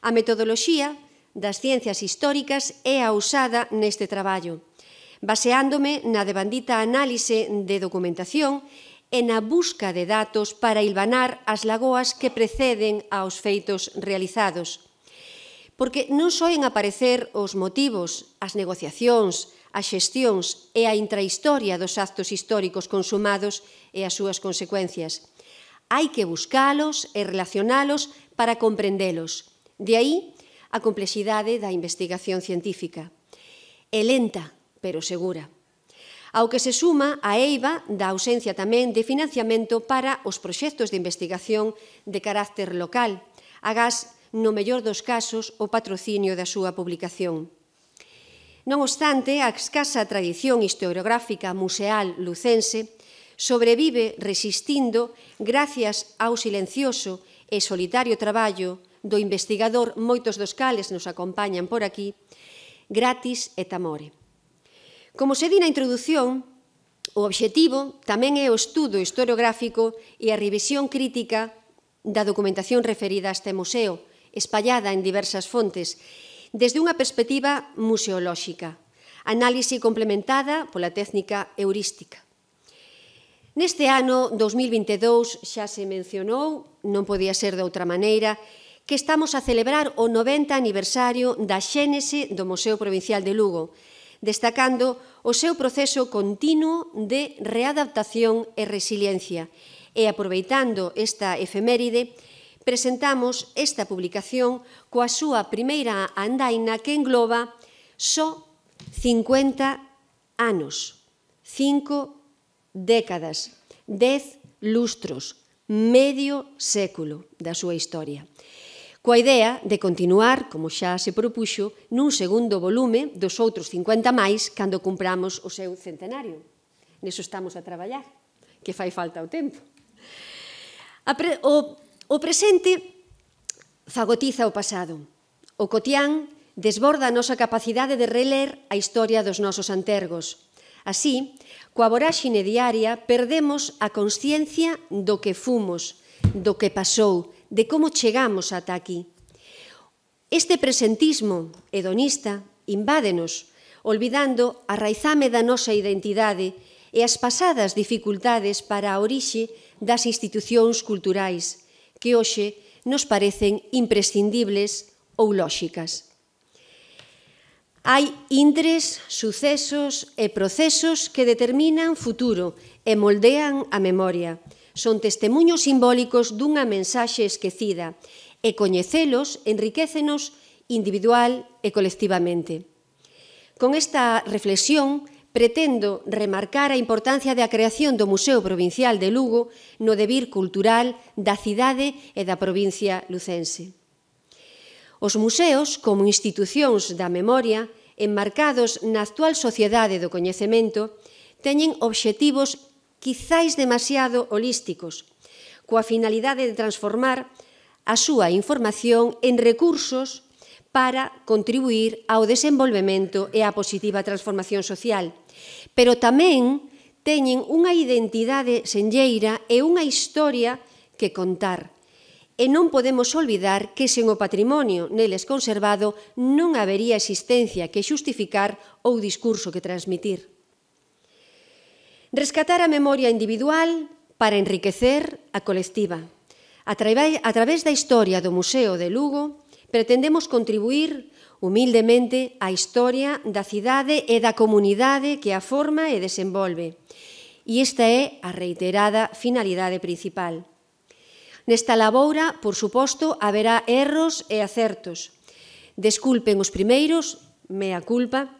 a metodoloxía das ciencias históricas é a usada neste traballo, baseándome na devandita análise de documentación e na busca de datos para hilvanar as lagoas que preceden aos feitos realizados. Porque non soen aparecer os motivos, as negociacións, as xestións e a intrahistoria dos actos históricos consumados e as súas consecuencias. Hai que buscalos e relacionalos para comprendelos. De aí a complexidade da investigación científica. É lenta, pero segura. Ao que se suma a eiva da ausencia tamén de financiamento para os proxectos de investigación de carácter local, agás, no mellor dos casos, o patrocinio da súa publicación. Non obstante, a escasa tradición historiográfica museal lucense sobrevive resistindo gracias ao silencioso e solitario traballo do investigador, moitos dos cales nos acompañan por aquí, Gratis et Amore. Como se di na introdución, o obxectivo tamén é o estudo historiográfico e a revisión crítica da documentación referida a este museo, espallada en diversas fontes, desde unha perspectiva museolóxica, análise complementada pola técnica heurística. Neste ano dous mil vinte e dous xa se mencionou, non podía ser de outra maneira, que estamos a celebrar o noventa aniversario da xénese do Museo Provincial de Lugo, destacando o seu proceso continuo de readaptación e resiliencia. E aproveitando esta efeméride, presentamos esta publicación coa súa primeira andaina que engloba só cincuenta anos, cinco décadas, dez lustros, medio século da súa historia, coa idea de continuar, como xa se propuxo, nun segundo volume dos outros cincuenta máis cando cumpramos o seu centenario. Neso estamos a traballar, que fai falta o tempo. O presente fagotiza o pasado. O cotián desborda a nosa capacidade de reler a historia dos nosos antergos. Así, coa voráxine diaria, perdemos a consciencia do que fomos, do que pasou, de como chegamos ata aquí. Este presentismo hedonista invádenos, olvidando a raizame da nosa identidade e as pasadas dificultades para a orixe das institucións culturais, que hoxe nos parecen imprescindibles ou lóxicas. Hai intres, sucesos e procesos que determinan futuro e moldean a memoria. Son testemuños simbólicos dunha mensaxe esquecida e coñecelos enriquécenos individual e colectivamente. Con esta reflexión, pretendo remarcar a importancia da creación do Museo Provincial de Lugo no devir cultural da cidade e da provincia lucense. Os museos, como institucións da memoria, enmarcados na actual sociedade do coñecemento, teñen obxectivos quizáis demasiado holísticos, coa finalidade de transformar a súa información en recursos para contribuir ao desenvolvemento e á positiva transformación social, pero tamén teñen unha identidade senlleira e unha historia que contar. E non podemos olvidar que sen o patrimonio neles conservado non habería existencia que xustificar ou discurso que transmitir. Rescatar a memoria individual para enriquecer a colectiva. A través da historia do Museo de Lugo, pretendemos contribuir humildemente á historia da cidade e da comunidade que a forma e desenvolve. E esta é a reiterada finalidade principal. Nesta laboura, por suposto, haberá erros e acertos. Desculpen os primeiros, mea culpa,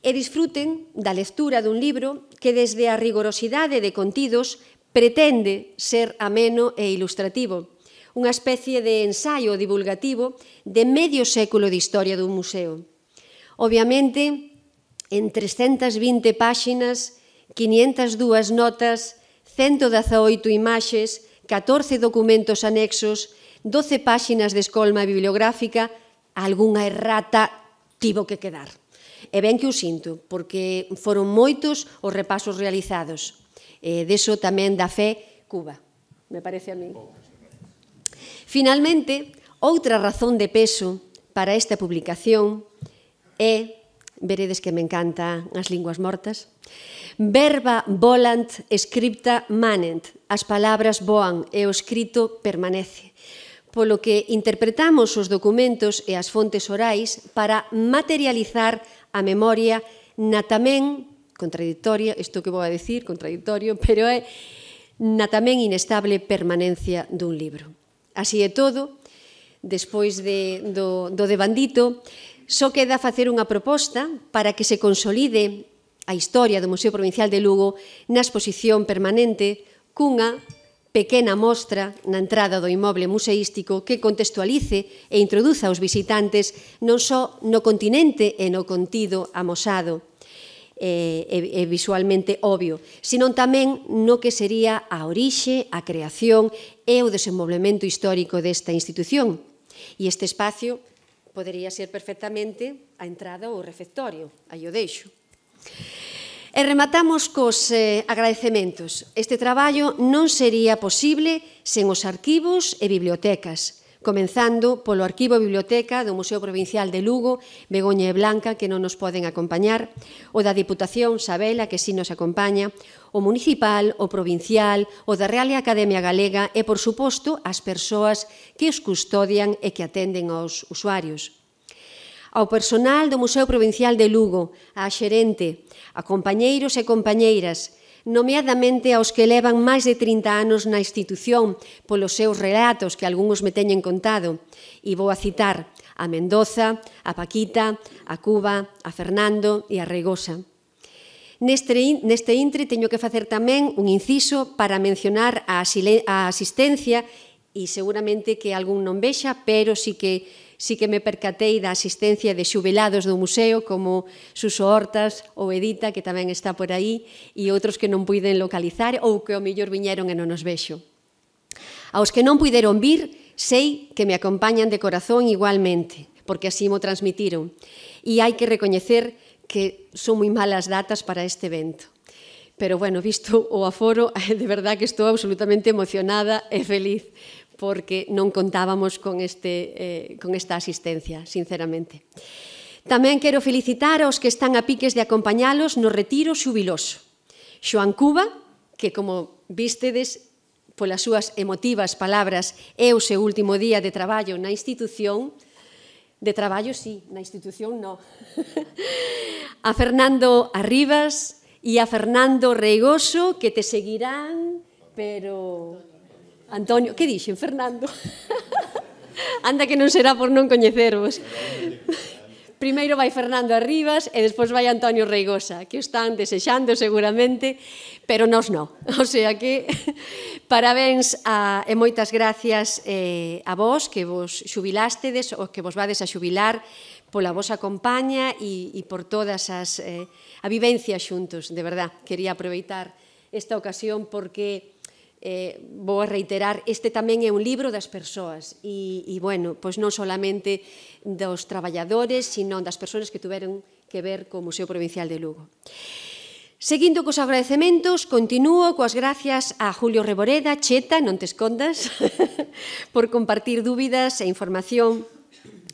e disfruten da lectura dun libro que desde a rigorosidade de contidos pretende ser ameno e ilustrativo, unha especie de ensaio divulgativo de medio século de historia dun museo. Obviamente, en trescentas vinte páxinas, quinientas dúas notas, ciento dezaoito imaxes, catorce documentos anexos, doce páxinas de escolma bibliográfica, algunha errata tivo que quedar. E ben que o sinto, porque foron moitos os repasos realizados. E deso tamén dá fe Cuba, me parece a mí. Finalmente, outra razón de peso para esta publicación é, veredes que me encantan as linguas mortas, verba volant, scripta manent, as palabras voan e o escrito permanece, polo que interpretamos os documentos e as fontes orais para materializar a memoria na tamén contradictoria, isto que vou a decir, contradictorio, pero é na tamén inestable permanencia dun libro. Así é todo, despois de, do, do devandito, só queda facer unha proposta para que se consolide a historia do Museo Provincial de Lugo na exposición permanente cunha pequena mostra na entrada do inmoble museístico que contextualice e introduza aos visitantes non só no continente e no contido amosado e, e, e visualmente obvio, sino tamén no que sería a orixe, a creación e o desenvolvemento histórico desta institución. E este espacio podería ser perfectamente a entrada ou o refectorio, aí o deixo. E rematamos cos eh, agradecementos. Este traballo non sería posible sen os arquivos e bibliotecas, comenzando polo Arquivo e Biblioteca do Museo Provincial de Lugo, Begoña e Blanca, que non nos poden acompañar, o da Diputación, Sabela, que sí nos acompaña, o municipal, o provincial, o da Real Academia Galega e, por suposto, as persoas que os custodian e que atenden aos usuarios. Ao personal do Museo Provincial de Lugo, á xerente, a compañeiros e compañeiras, nomeadamente aos que levan máis de trinta anos na institución polos seus relatos que algúns me teñen contado. E vou a citar a Mendoza, a Paquita, a Cuba, a Fernando e a Reigosa. Neste, neste intre teño que facer tamén un inciso para mencionar a asistencia e seguramente que algún non vexa, pero sí que sí que me percatei da asistencia de xubilados do museo como Suso Hortas ou Edita, que tamén está por aí, e outros que non puiden localizar ou que ao mellor viñeron e non nos vexo. Aos que non puideron vir, sei que me acompañan de corazón igualmente, porque así mo transmitiron. E hai que recoñecer que son moi malas datas para este evento. Pero, bueno, visto o aforo, de verdad que estou absolutamente emocionada e feliz, porque non contábamos con, este, eh, con esta asistencia, sinceramente. Tamén quero felicitar aos que están a piques de acompañalos no retiro xubiloso. Xoan Cuba, que, como vístedes, polas súas emotivas palabras, é o seu último día de traballo na institución. De traballo, sí, na institución, no. A Fernando Arribas e a Fernando Reigoso, que te seguirán, pero... Antonio, que dixen, Fernando? Anda que non será por non coñecervos. Primeiro vai Fernando Arribas e despois vai Antonio Reigosa, que o están desexando seguramente, pero nós non. O sea que, parabéns a, e moitas gracias eh, a vos que vos xubilástedes ou que vos vades a xubilar pola vosa compaña e, e por todas as eh, a vivencia xuntos, de verdad. Quería aproveitar esta ocasión porque eh, vou a reiterar, este tamén é un libro das persoas e, e bueno, pois non solamente dos traballadores, sino das persoas que tuveron que ver co Museo Provincial de Lugo. Seguindo cos agradecementos, continúo coas gracias a Julio Reboreda, Cheta, non te escondas, por compartir dúbidas e información,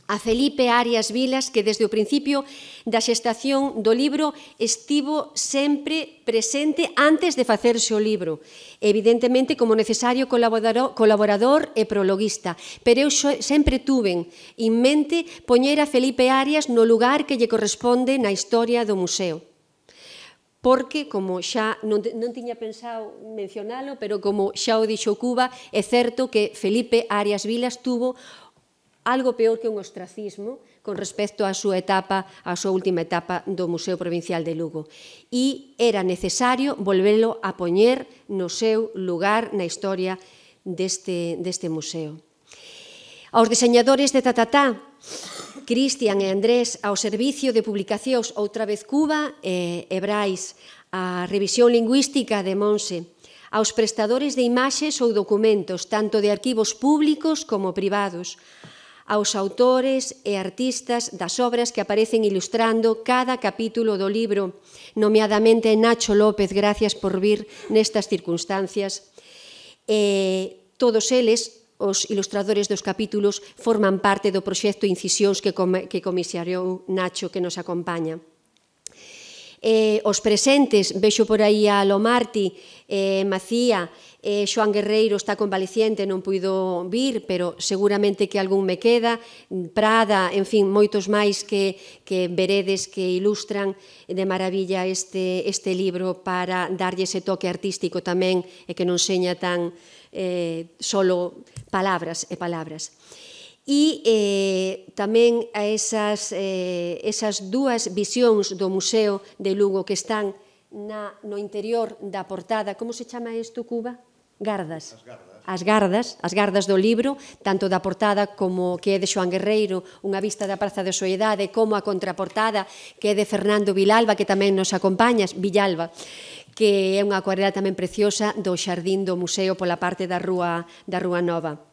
a Felipe Arias Vilas, que desde o principio da xestación do libro estivo sempre presente antes de facerse o libro, evidentemente como necesario colaborador e prologuista, pero eu sempre tuven en mente poñer a Felipe Arias no lugar que lle corresponde na historia do museo. Porque, como xa non, non tiña pensado mencionalo, pero como xa o dixo Cuba, é certo que Felipe Arias Vilas tuvo algo peor que un ostracismo con respecto á súa etapa, á súa última etapa do Museo Provincial de Lugo. E era necesario volvelo a poñer no seu lugar na historia deste, deste museo. Aos diseñadores de Tatatá, Cristian e Andrés, ao servicio de publicacións outra vez Cuba e Brais, a revisión lingüística de Monse, aos prestadores de imaxes ou documentos, tanto de arquivos públicos como privados, aos autores e artistas das obras que aparecen ilustrando cada capítulo do libro, nomeadamente Nacho López, gracias por vir nestas circunstancias, e todos eles, os ilustradores dos capítulos, forman parte do proxecto Incisións que, que comisariou Nacho, que nos acompaña. Eh, os presentes, vexo por aí a Lomarti, eh, Macía, eh, Xoan Guerreiro está convaleciente, non puido vir, pero seguramente que algún me queda, Prada, en fin, moitos máis que, que veredes que ilustran de maravilla este, este libro para darlle ese toque artístico tamén e que non seña tan eh, solo palabras e palabras. E eh, tamén a esas, eh, esas dúas visións do Museo de Lugo que están na, no interior da portada. Como se chama isto, Cuba? Gardas. As gardas. As gardas, as gardas do libro, tanto da portada como que é de Xoan Guerreiro, unha vista da Praza de Soedade, como a contraportada que é de Fernando Vilalba, que tamén nos acompañas, Villalba, que é unha acuarela tamén preciosa do xardín do museo pola parte da Rúa, da Rúa Nova.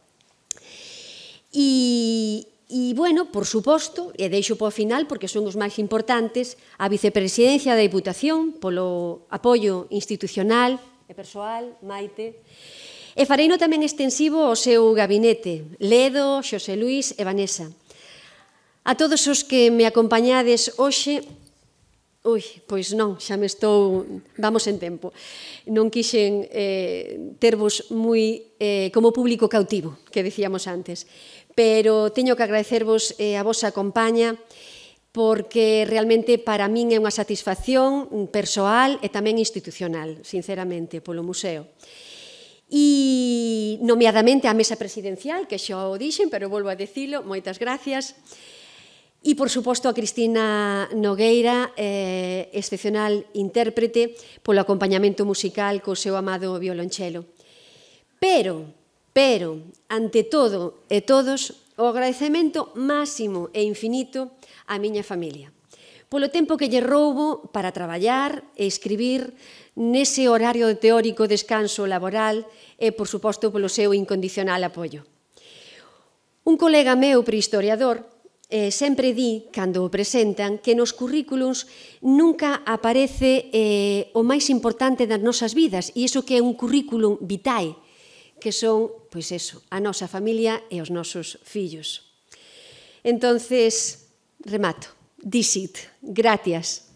E, e, bueno, por suposto, e deixo po final, porque son os máis importantes, a vicepresidencia da Diputación, polo apoio institucional e persoal, Maite, e fareino tamén extensivo ao seu gabinete, Ledo, Xosé Luís e Vanessa. A todos os que me acompañades hoxe, ui, pois non, xa me estou, vamos en tempo, non quixen eh, tervos moi eh, como público cautivo, que decíamos antes, pero teño que agradecervos eh, a vosa compaña, porque realmente para min é unha satisfacción persoal e tamén institucional, sinceramente, polo museo. E, nomeadamente, a mesa presidencial, que xa o dixen, pero volvo a dicilo, moitas gracias. E, por suposto, a Cristina Nogueira, eh, excepcional intérprete, polo acompañamento musical co seu amado violonchelo. Pero, pero, ante todo e todos, o agradecemento máximo e infinito á miña familia. Polo tempo que lle roubo para traballar e escribir nese horario de teórico descanso laboral e, por suposto, polo seu incondicional apoio. Un colega meu prehistoriador Eh, sempre di, cando o presentan, que nos currículums nunca aparece eh, o máis importante das nosas vidas, e iso que é un currículum vitae, que son, pois eso, a nosa familia e os nosos fillos. Entonces, remato. This it. Gracias.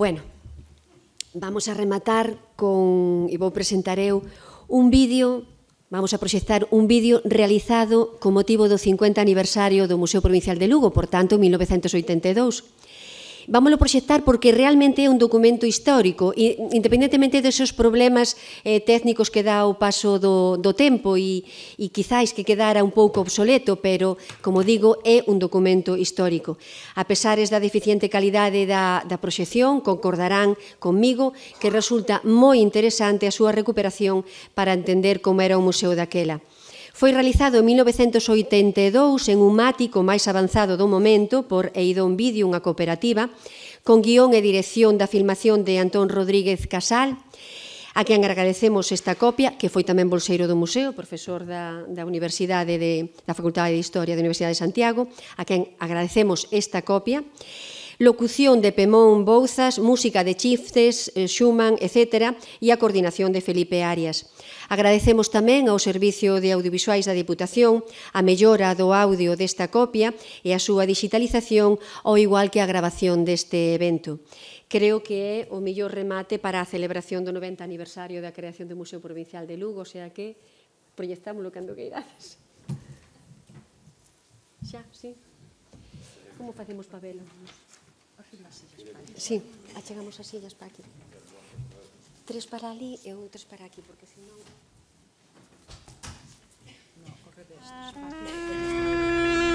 Bueno, vamos a rematar con, e vou presentar eu, un vídeo, vamos a proxectar un vídeo realizado con motivo do cincuenta aniversario do Museo Provincial de Lugo, por tanto, mil novecentos oitenta e dous. Vámoslo proxectar porque realmente é un documento histórico, independentemente desos problemas eh, técnicos que dá o paso do, do tempo e, e quizáis que quedara un pouco obsoleto, pero, como digo, é un documento histórico. A pesares da deficiente calidade da, da proxección, concordarán conmigo que resulta moi interesante a súa recuperación para entender como era o museo daquela. Foi realizado en mil novecentos oitenta e dous en un mático máis avanzado do momento por Eidón Vídeo, unha cooperativa, con guión e dirección da filmación de Antón Rodríguez Casal, a quen agradecemos esta copia, que foi tamén bolseiro do museo, profesor da, da Universidade de, da Facultade de Historia da Universidade de Santiago, a quen agradecemos esta copia. Locución de Pemón Bouzas, música de Chiftes, Schumann, etcétera, e a coordinación de Felipe Arias. Agradecemos tamén ao Servicio de Audiovisuais da Diputación a mellora do audio desta copia e a súa digitalización, ao igual que a grabación deste evento. Creo que é o mellor remate para a celebración do noventa aniversario da creación do Museo Provincial de Lugo, o sea que proyectámoslo cando que irades. Xa, sí. Como facemos para velo? Sí, achegamos as sillas para aquí. Tres para ali e outros para aquí, porque senón... No, corre destes, para aquí.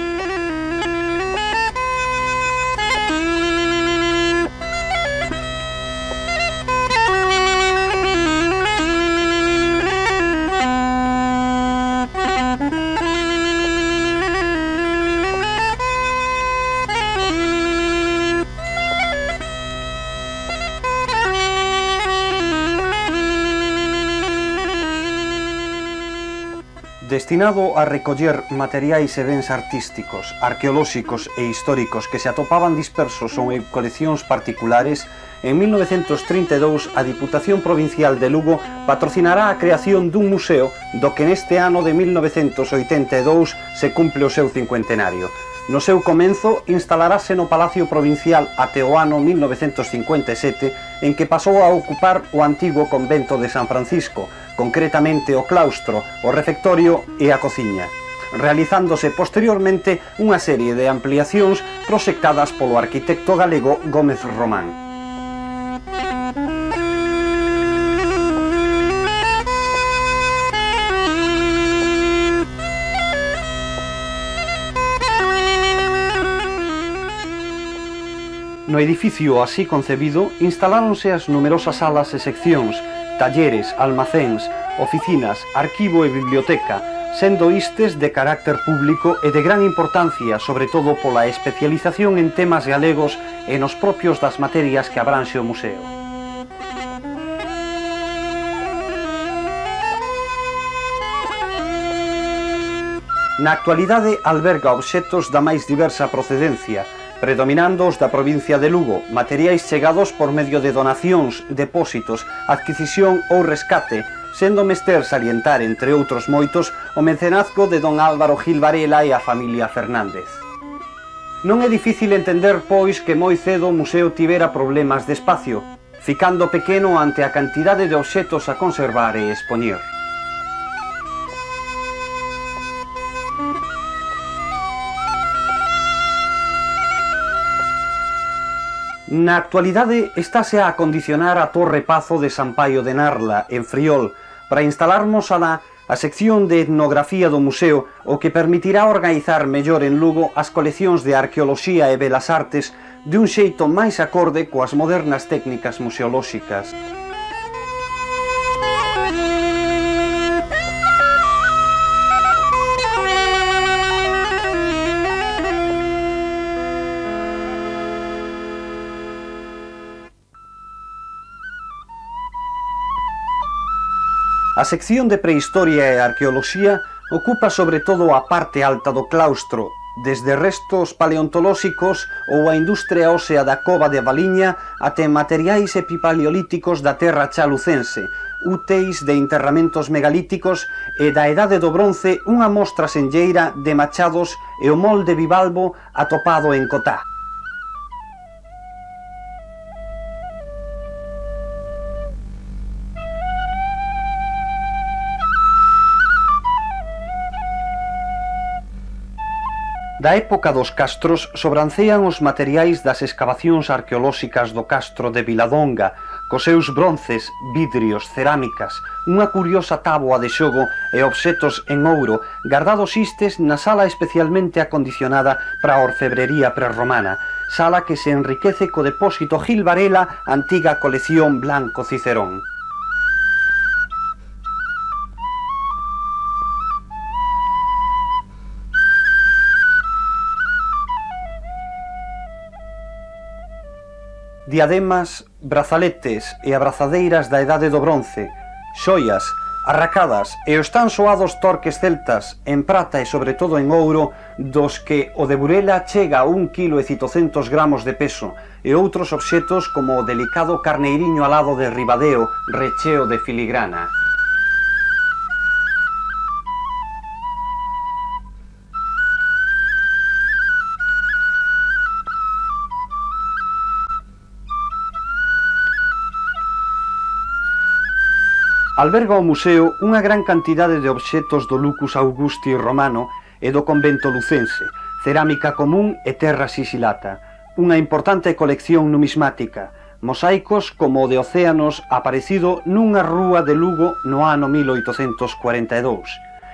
Destinado a recoller materiais e bens artísticos, arqueolóxicos e históricos que se atopaban dispersos ou en coleccións particulares, en mil novecentos trinta e dous a Diputación Provincial de Lugo patrocinará a creación dun museo do que neste ano de mil novecentos oitenta e dous se cumple o seu cincuentenario. No seu comenzo instalarase no Palacio Provincial até o ano mil novecentos cincuenta e sete, en que pasou a ocupar o antigo convento de San Francisco, concretamente o claustro, o refectorio e a cociña, realizándose posteriormente unha serie de ampliacións proxectadas polo arquitecto galego Gómez Román. No edificio así concebido instaláronse as numerosas salas e seccións, talleres, almacéns, oficinas, arquivo e biblioteca, sendo istes de carácter público e de gran importancia, sobre todo pola especialización en temas galegos e nos propios das materias que abranxe o museo. Na actualidade alberga obxectos da máis diversa procedencia, predominando os da provincia de Lugo, materiais chegados por medio de donacións, depósitos, adquisición ou rescate, sendo mester salientar, entre outros moitos, o mecenazgo de don Álvaro Gil Varela e a familia Fernández. Non é difícil entender, pois, que moi cedo o museo tivera problemas de espacio, ficando pequeno ante a cantidade de obxectos a conservar e expoñer. Na actualidade estáse a acondicionar a Torre Pazo de San Paio de Narla, en Friol, para instalarmos alá a sección de etnografía do museo, o que permitirá organizar mellor en Lugo as coleccións de arqueoloxía e belas artes de un xeito máis acorde coas modernas técnicas museolóxicas. A sección de prehistoria e arqueoloxía ocupa sobre todo a parte alta do claustro, desde restos paleontolóxicos ou a industria ósea da cova de Valiña até materiais epipaleolíticos da terra chalucense, úteis de enterramentos megalíticos e da Edade do Bronce unha mostra senlleira de machados e o molde bivalvo atopado en Cotá. Da época dos castros sobrancean os materiais das escavacións arqueolóxicas do castro de Viladonga, cos seus bronces, vidrios, cerámicas, unha curiosa táboa de xogo e obxetos en ouro gardados istes na sala especialmente acondicionada para a orfebrería prerromana, sala que se enriquece co depósito Gil Varela, antiga colección Blanco Cicerón. Diademas, brazaletes e abrazadeiras da Edade do Bronce, xoias, arracadas e os tan soados torques celtas en prata e sobre todo en ouro, dos que o de Burela chega a un quilo e citocentos gramos de peso, e outros obxetos como o delicado carneiriño alado de Ribadeo, recheo de filigrana. Alberga o museo unha gran cantidade de obxetos do Lucus Augusti romano e do convento lucense, cerámica común e terra sisilata, unha importante colección numismática, mosaicos como o de Océanos aparecido nunha rúa de Lugo no ano mil oitocentos cuarenta e dous.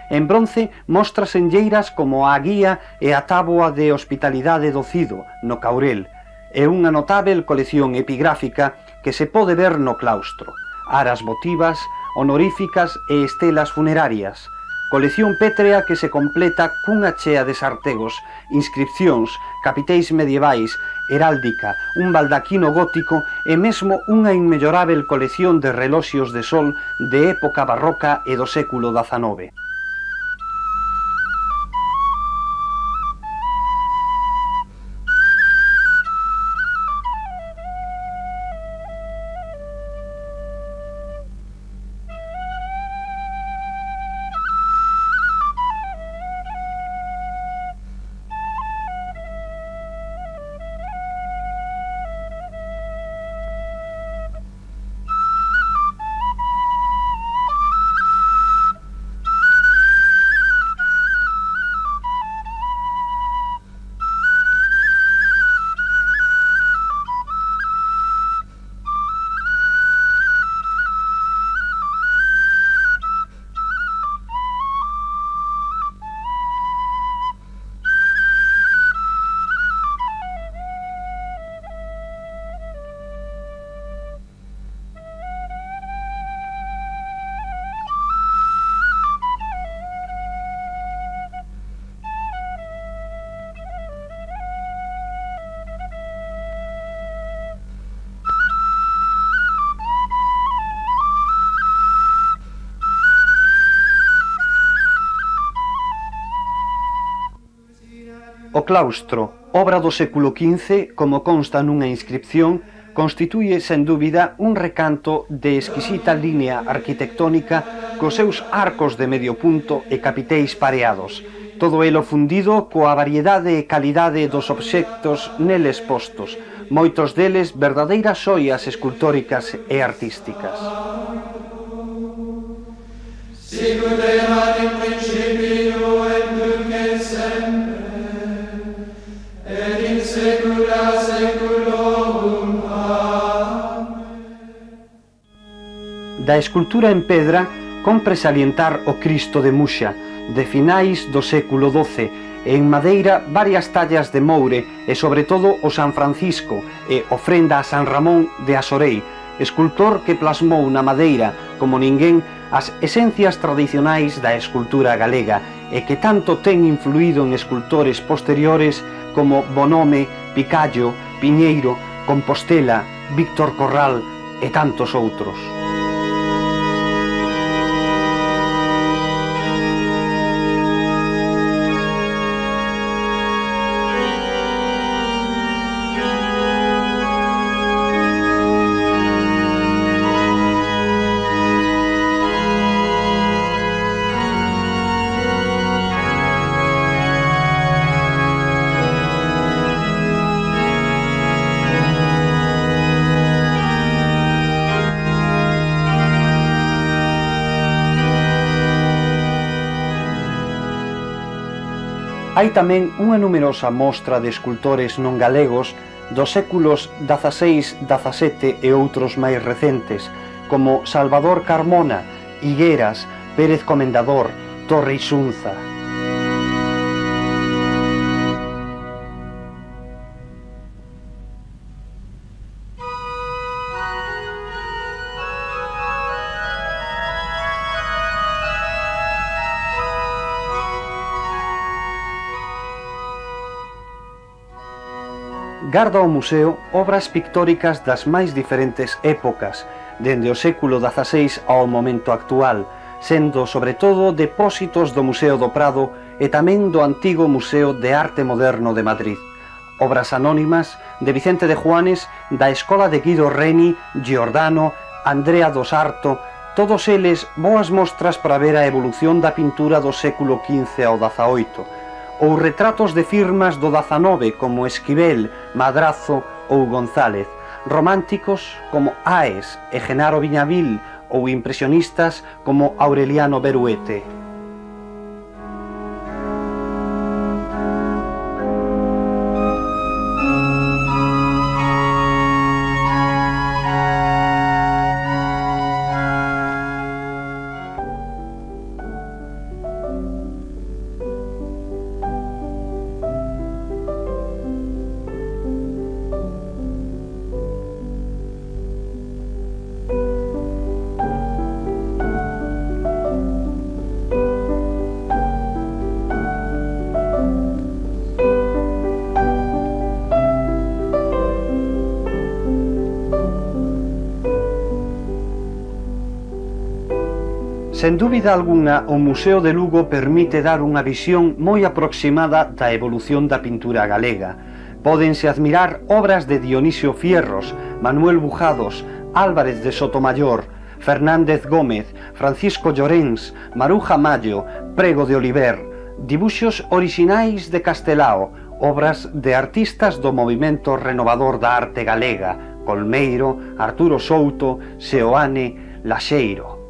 En bronce mostras enlleiras como a guía e a táboa de hospitalidade do Cido, no Caurel, e unha notável colección epigráfica que se pode ver no claustro, aras votivas, honoríficas e estelas funerarias, colección pétrea que se completa cunha chea de sartegos, inscripcións, capiteis medievais, heráldica, un baldaquino gótico e mesmo unha inmellorável colección de reloxios de sol de época barroca e do século dezanove. O claustro, obra do século quince, como consta nunha inscripción, constitúe, sen dúbida, un recanto de exquisita línea arquitectónica cos seus arcos de medio punto e capiteis pareados, todo elo fundido coa variedade e calidade dos obxectos neles postos, moitos deles verdadeiras xoias escultóricas e artísticas. Sicut erat in principio et nunc et semper, et in saecula saeculorum. Amen. Da escultura en pedra compre salientar o Cristo de Muxa, de finais do século doce, e en madeira varias tallas de Moure e sobre todo o San Francisco e ofrenda a San Ramón de Asorei, escultor que plasmou na madeira, como ninguén, as esencias tradicionais da escultura galega e que tanto ten influído en escultores posteriores como Bonhome, Picallo, Piñeiro, Compostela, Víctor Corral e tantos outros. Hai tamén unha numerosa mostra de escultores non galegos dos séculos dieciséis, dezasete e outros máis recentes, como Salvador Carmona, Higueras, Pérez Comendador, Torre Isunza. Garda o museo obras pictóricas das máis diferentes épocas, dende o século dieciséis ao momento actual, sendo sobre todo depósitos do Museo do Prado e tamén do antigo Museo de Arte Moderno de Madrid. Obras anónimas de Vicente de Juanes, da escola de Guido Reni, Giordano, Andrea dos Arto, todos eles boas mostras para ver a evolución da pintura do século quince ao dezaoito, ou retratos de firmas do dezanove como Esquivel, Madrazo ou González, románticos como Aes e Genaro Viñavil ou impresionistas como Aureliano Beruete. Sen dúbida alguna, o Museo de Lugo permite dar unha visión moi aproximada da evolución da pintura galega. Pódense admirar obras de Dionisio Fierros, Manuel Bujados, Álvarez de Sotomayor, Fernández Gómez, Francisco Llorens, Maruja Mallo, Prego de Oliver, dibuxos orixinais de Castelao, obras de artistas do movimento renovador da arte galega, Colmeiro, Arturo Souto, Seoane, Laxeiro.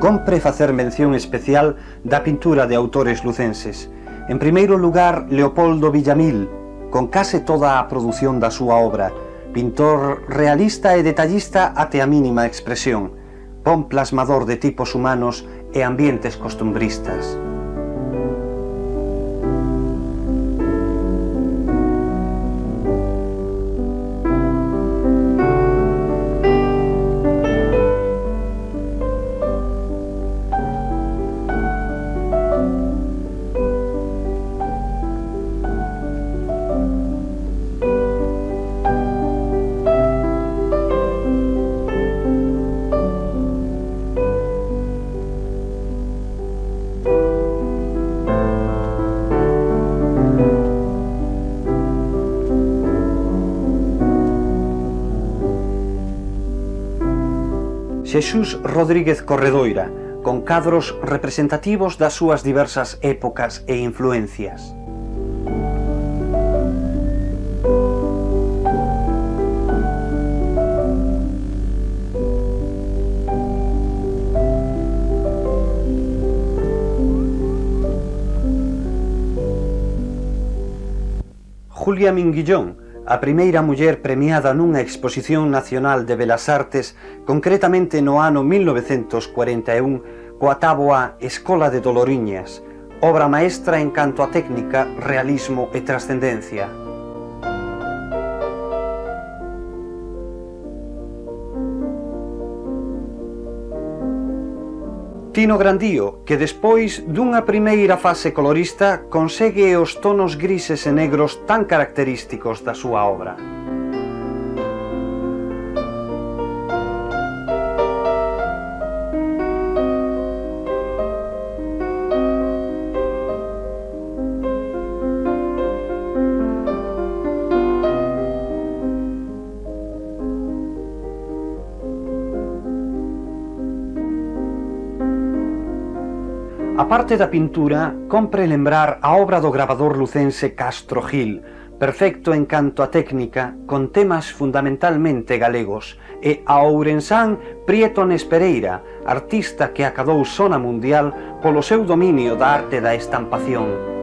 Compre facer mención especial da pintura de autores lucenses. En primeiro lugar, Leopoldo Villamil, con case toda a produción da súa obra, pintor realista e detallista até a mínima expresión, bon plasmador de tipos humanos e ambientes costumbristas. Xesús Rodríguez Corredoira, con cadros representativos das súas diversas épocas e influencias. Julia Minguillón, a primeira muller premiada nunha exposición nacional de Belas Artes, concretamente no ano mil novecentos cuarenta e un, coa táboa Escola de Doloriñas, obra maestra en canto a técnica, realismo e trascendencia. Tino Grandío, que despois dunha primeira fase colorista consegue os tonos grises e negros tan característicos da súa obra. A parte da pintura, compre lembrar a obra do gravador lucense Castro Gil, perfecto en canto a técnica, con temas fundamentalmente galegos, e a ourensán Prieto Nespereira, artista que acadou sona mundial polo seu dominio da arte da estampación.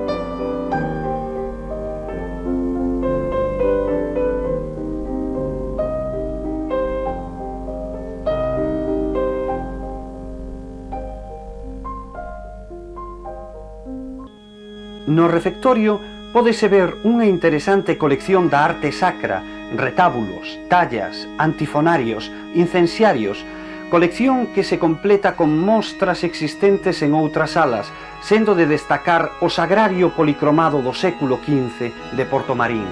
No refectorio pódese ver unha interesante colección da arte sacra, retábulos, tallas, antifonarios, incenciarios, colección que se completa con mostras existentes en outras salas, sendo de destacar o sagrario policromado do século quince de Portomarín.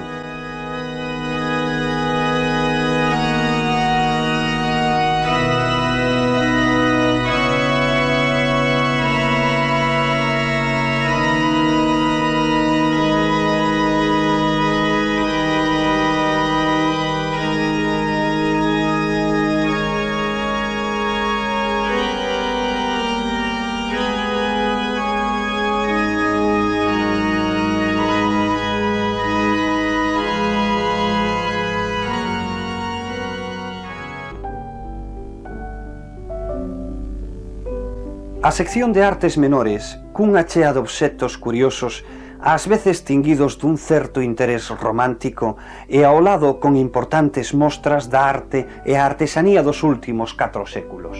A sección de artes menores, cunha chea de obxectos curiosos, ás veces tinguidos dun certo interés romántico, e ao lado con importantes mostras da arte e a artesanía dos últimos catro séculos.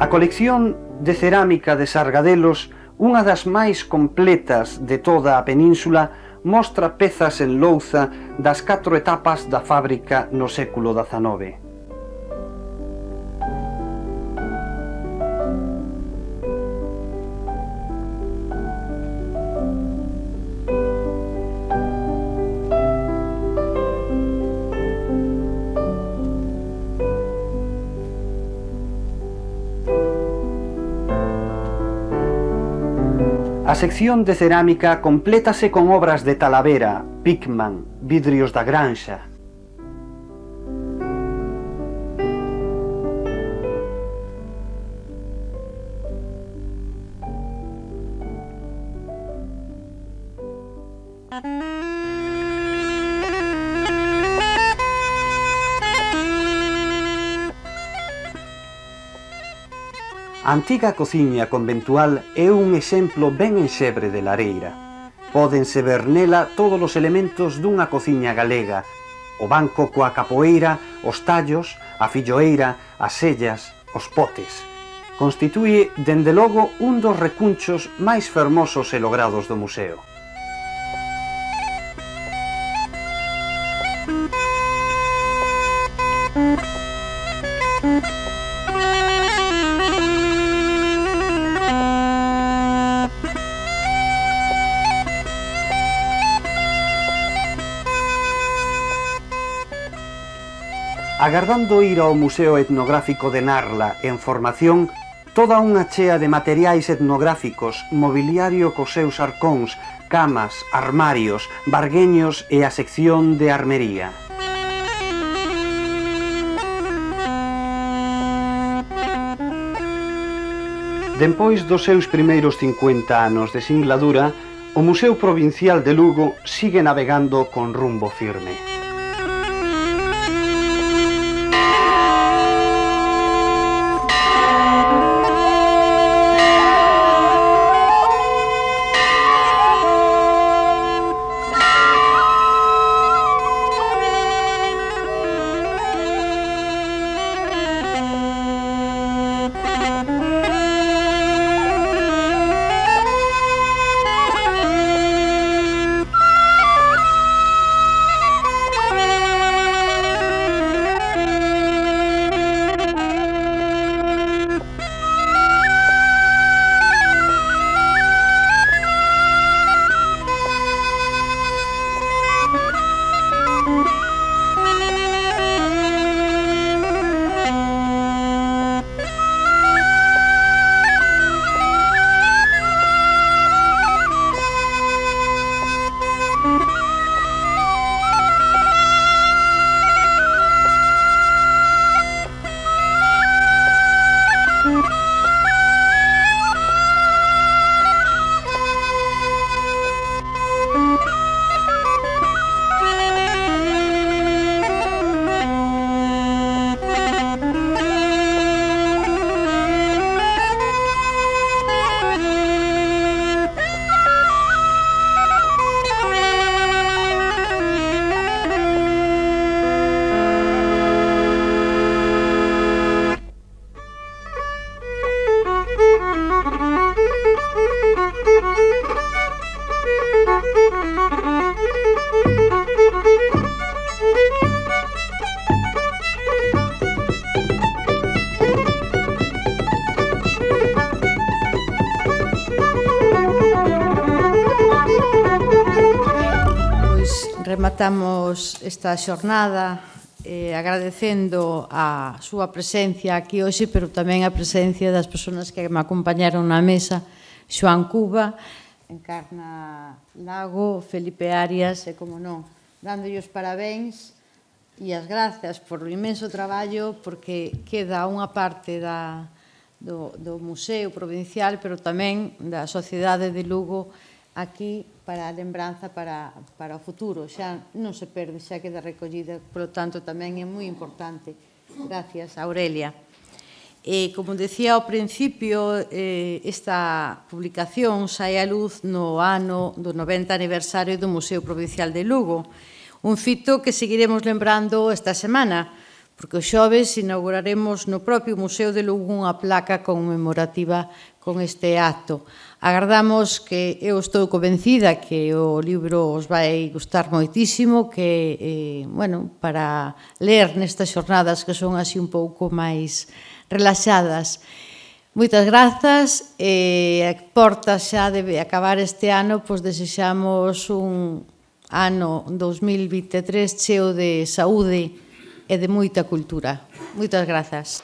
A colección de cerámica de Sargadelos, unha das máis completas de toda a península, mostra pezas en louza das catro etapas da fábrica no século dezanove. A sección de cerámica complétase con obras de Talavera, Pickman, vidrios da Granxa. A antiga cociña conventual é un exemplo ben enxebre de lareira. Pódense ver nela todos os elementos dunha cociña galega: o banco coa capoeira, os tallos, a filloeira, as sellas, os potes. Constitúe, dende logo, un dos recunchos máis fermosos e logrados do museo. Agardando ir ao Museo Etnográfico de Narla en formación, toda unha chea de materiais etnográficos, mobiliario cos seus arcóns, camas, armarios, bargueños e a sección de armería. Dempois dos seus primeiros cincuenta anos de singladura, o Museo Provincial de Lugo sigue navegando con rumbo firme. rematamos esta xornada eh, agradecendo a súa presencia aquí hoxe, pero tamén a presencia das persoas que me acompañaron na mesa, Xoán Cuba, Encarna Lago, Felipe Arias e, como non, dándolle os parabéns e as grazas por o inmenso traballo, porque queda unha parte da, do, do Museo Provincial, pero tamén da Sociedade de Lugo aquí para a lembranza para, para o futuro. Xa non se perde, xa queda recollida, polo tanto tamén é moi importante. Gracias, Aurelia. E, como decía ao principio, eh, esta publicación sai á luz no ano do noventa aniversario do Museo Provincial de Lugo, un fito que seguiremos lembrando esta semana, porque o xoves inauguraremos no propio Museo de Lugo unha placa conmemorativa con este acto. Agardamos que, eu estou convencida que o libro os vai gustar moitísimo, que, eh, bueno, para ler nestas xornadas que son así un pouco máis relaxadas. Moitas grazas, e a porta xa debe acabar este ano, pois desexamos un ano dos mil vinte e tres cheo de saúde e de moita cultura. Moitas grazas.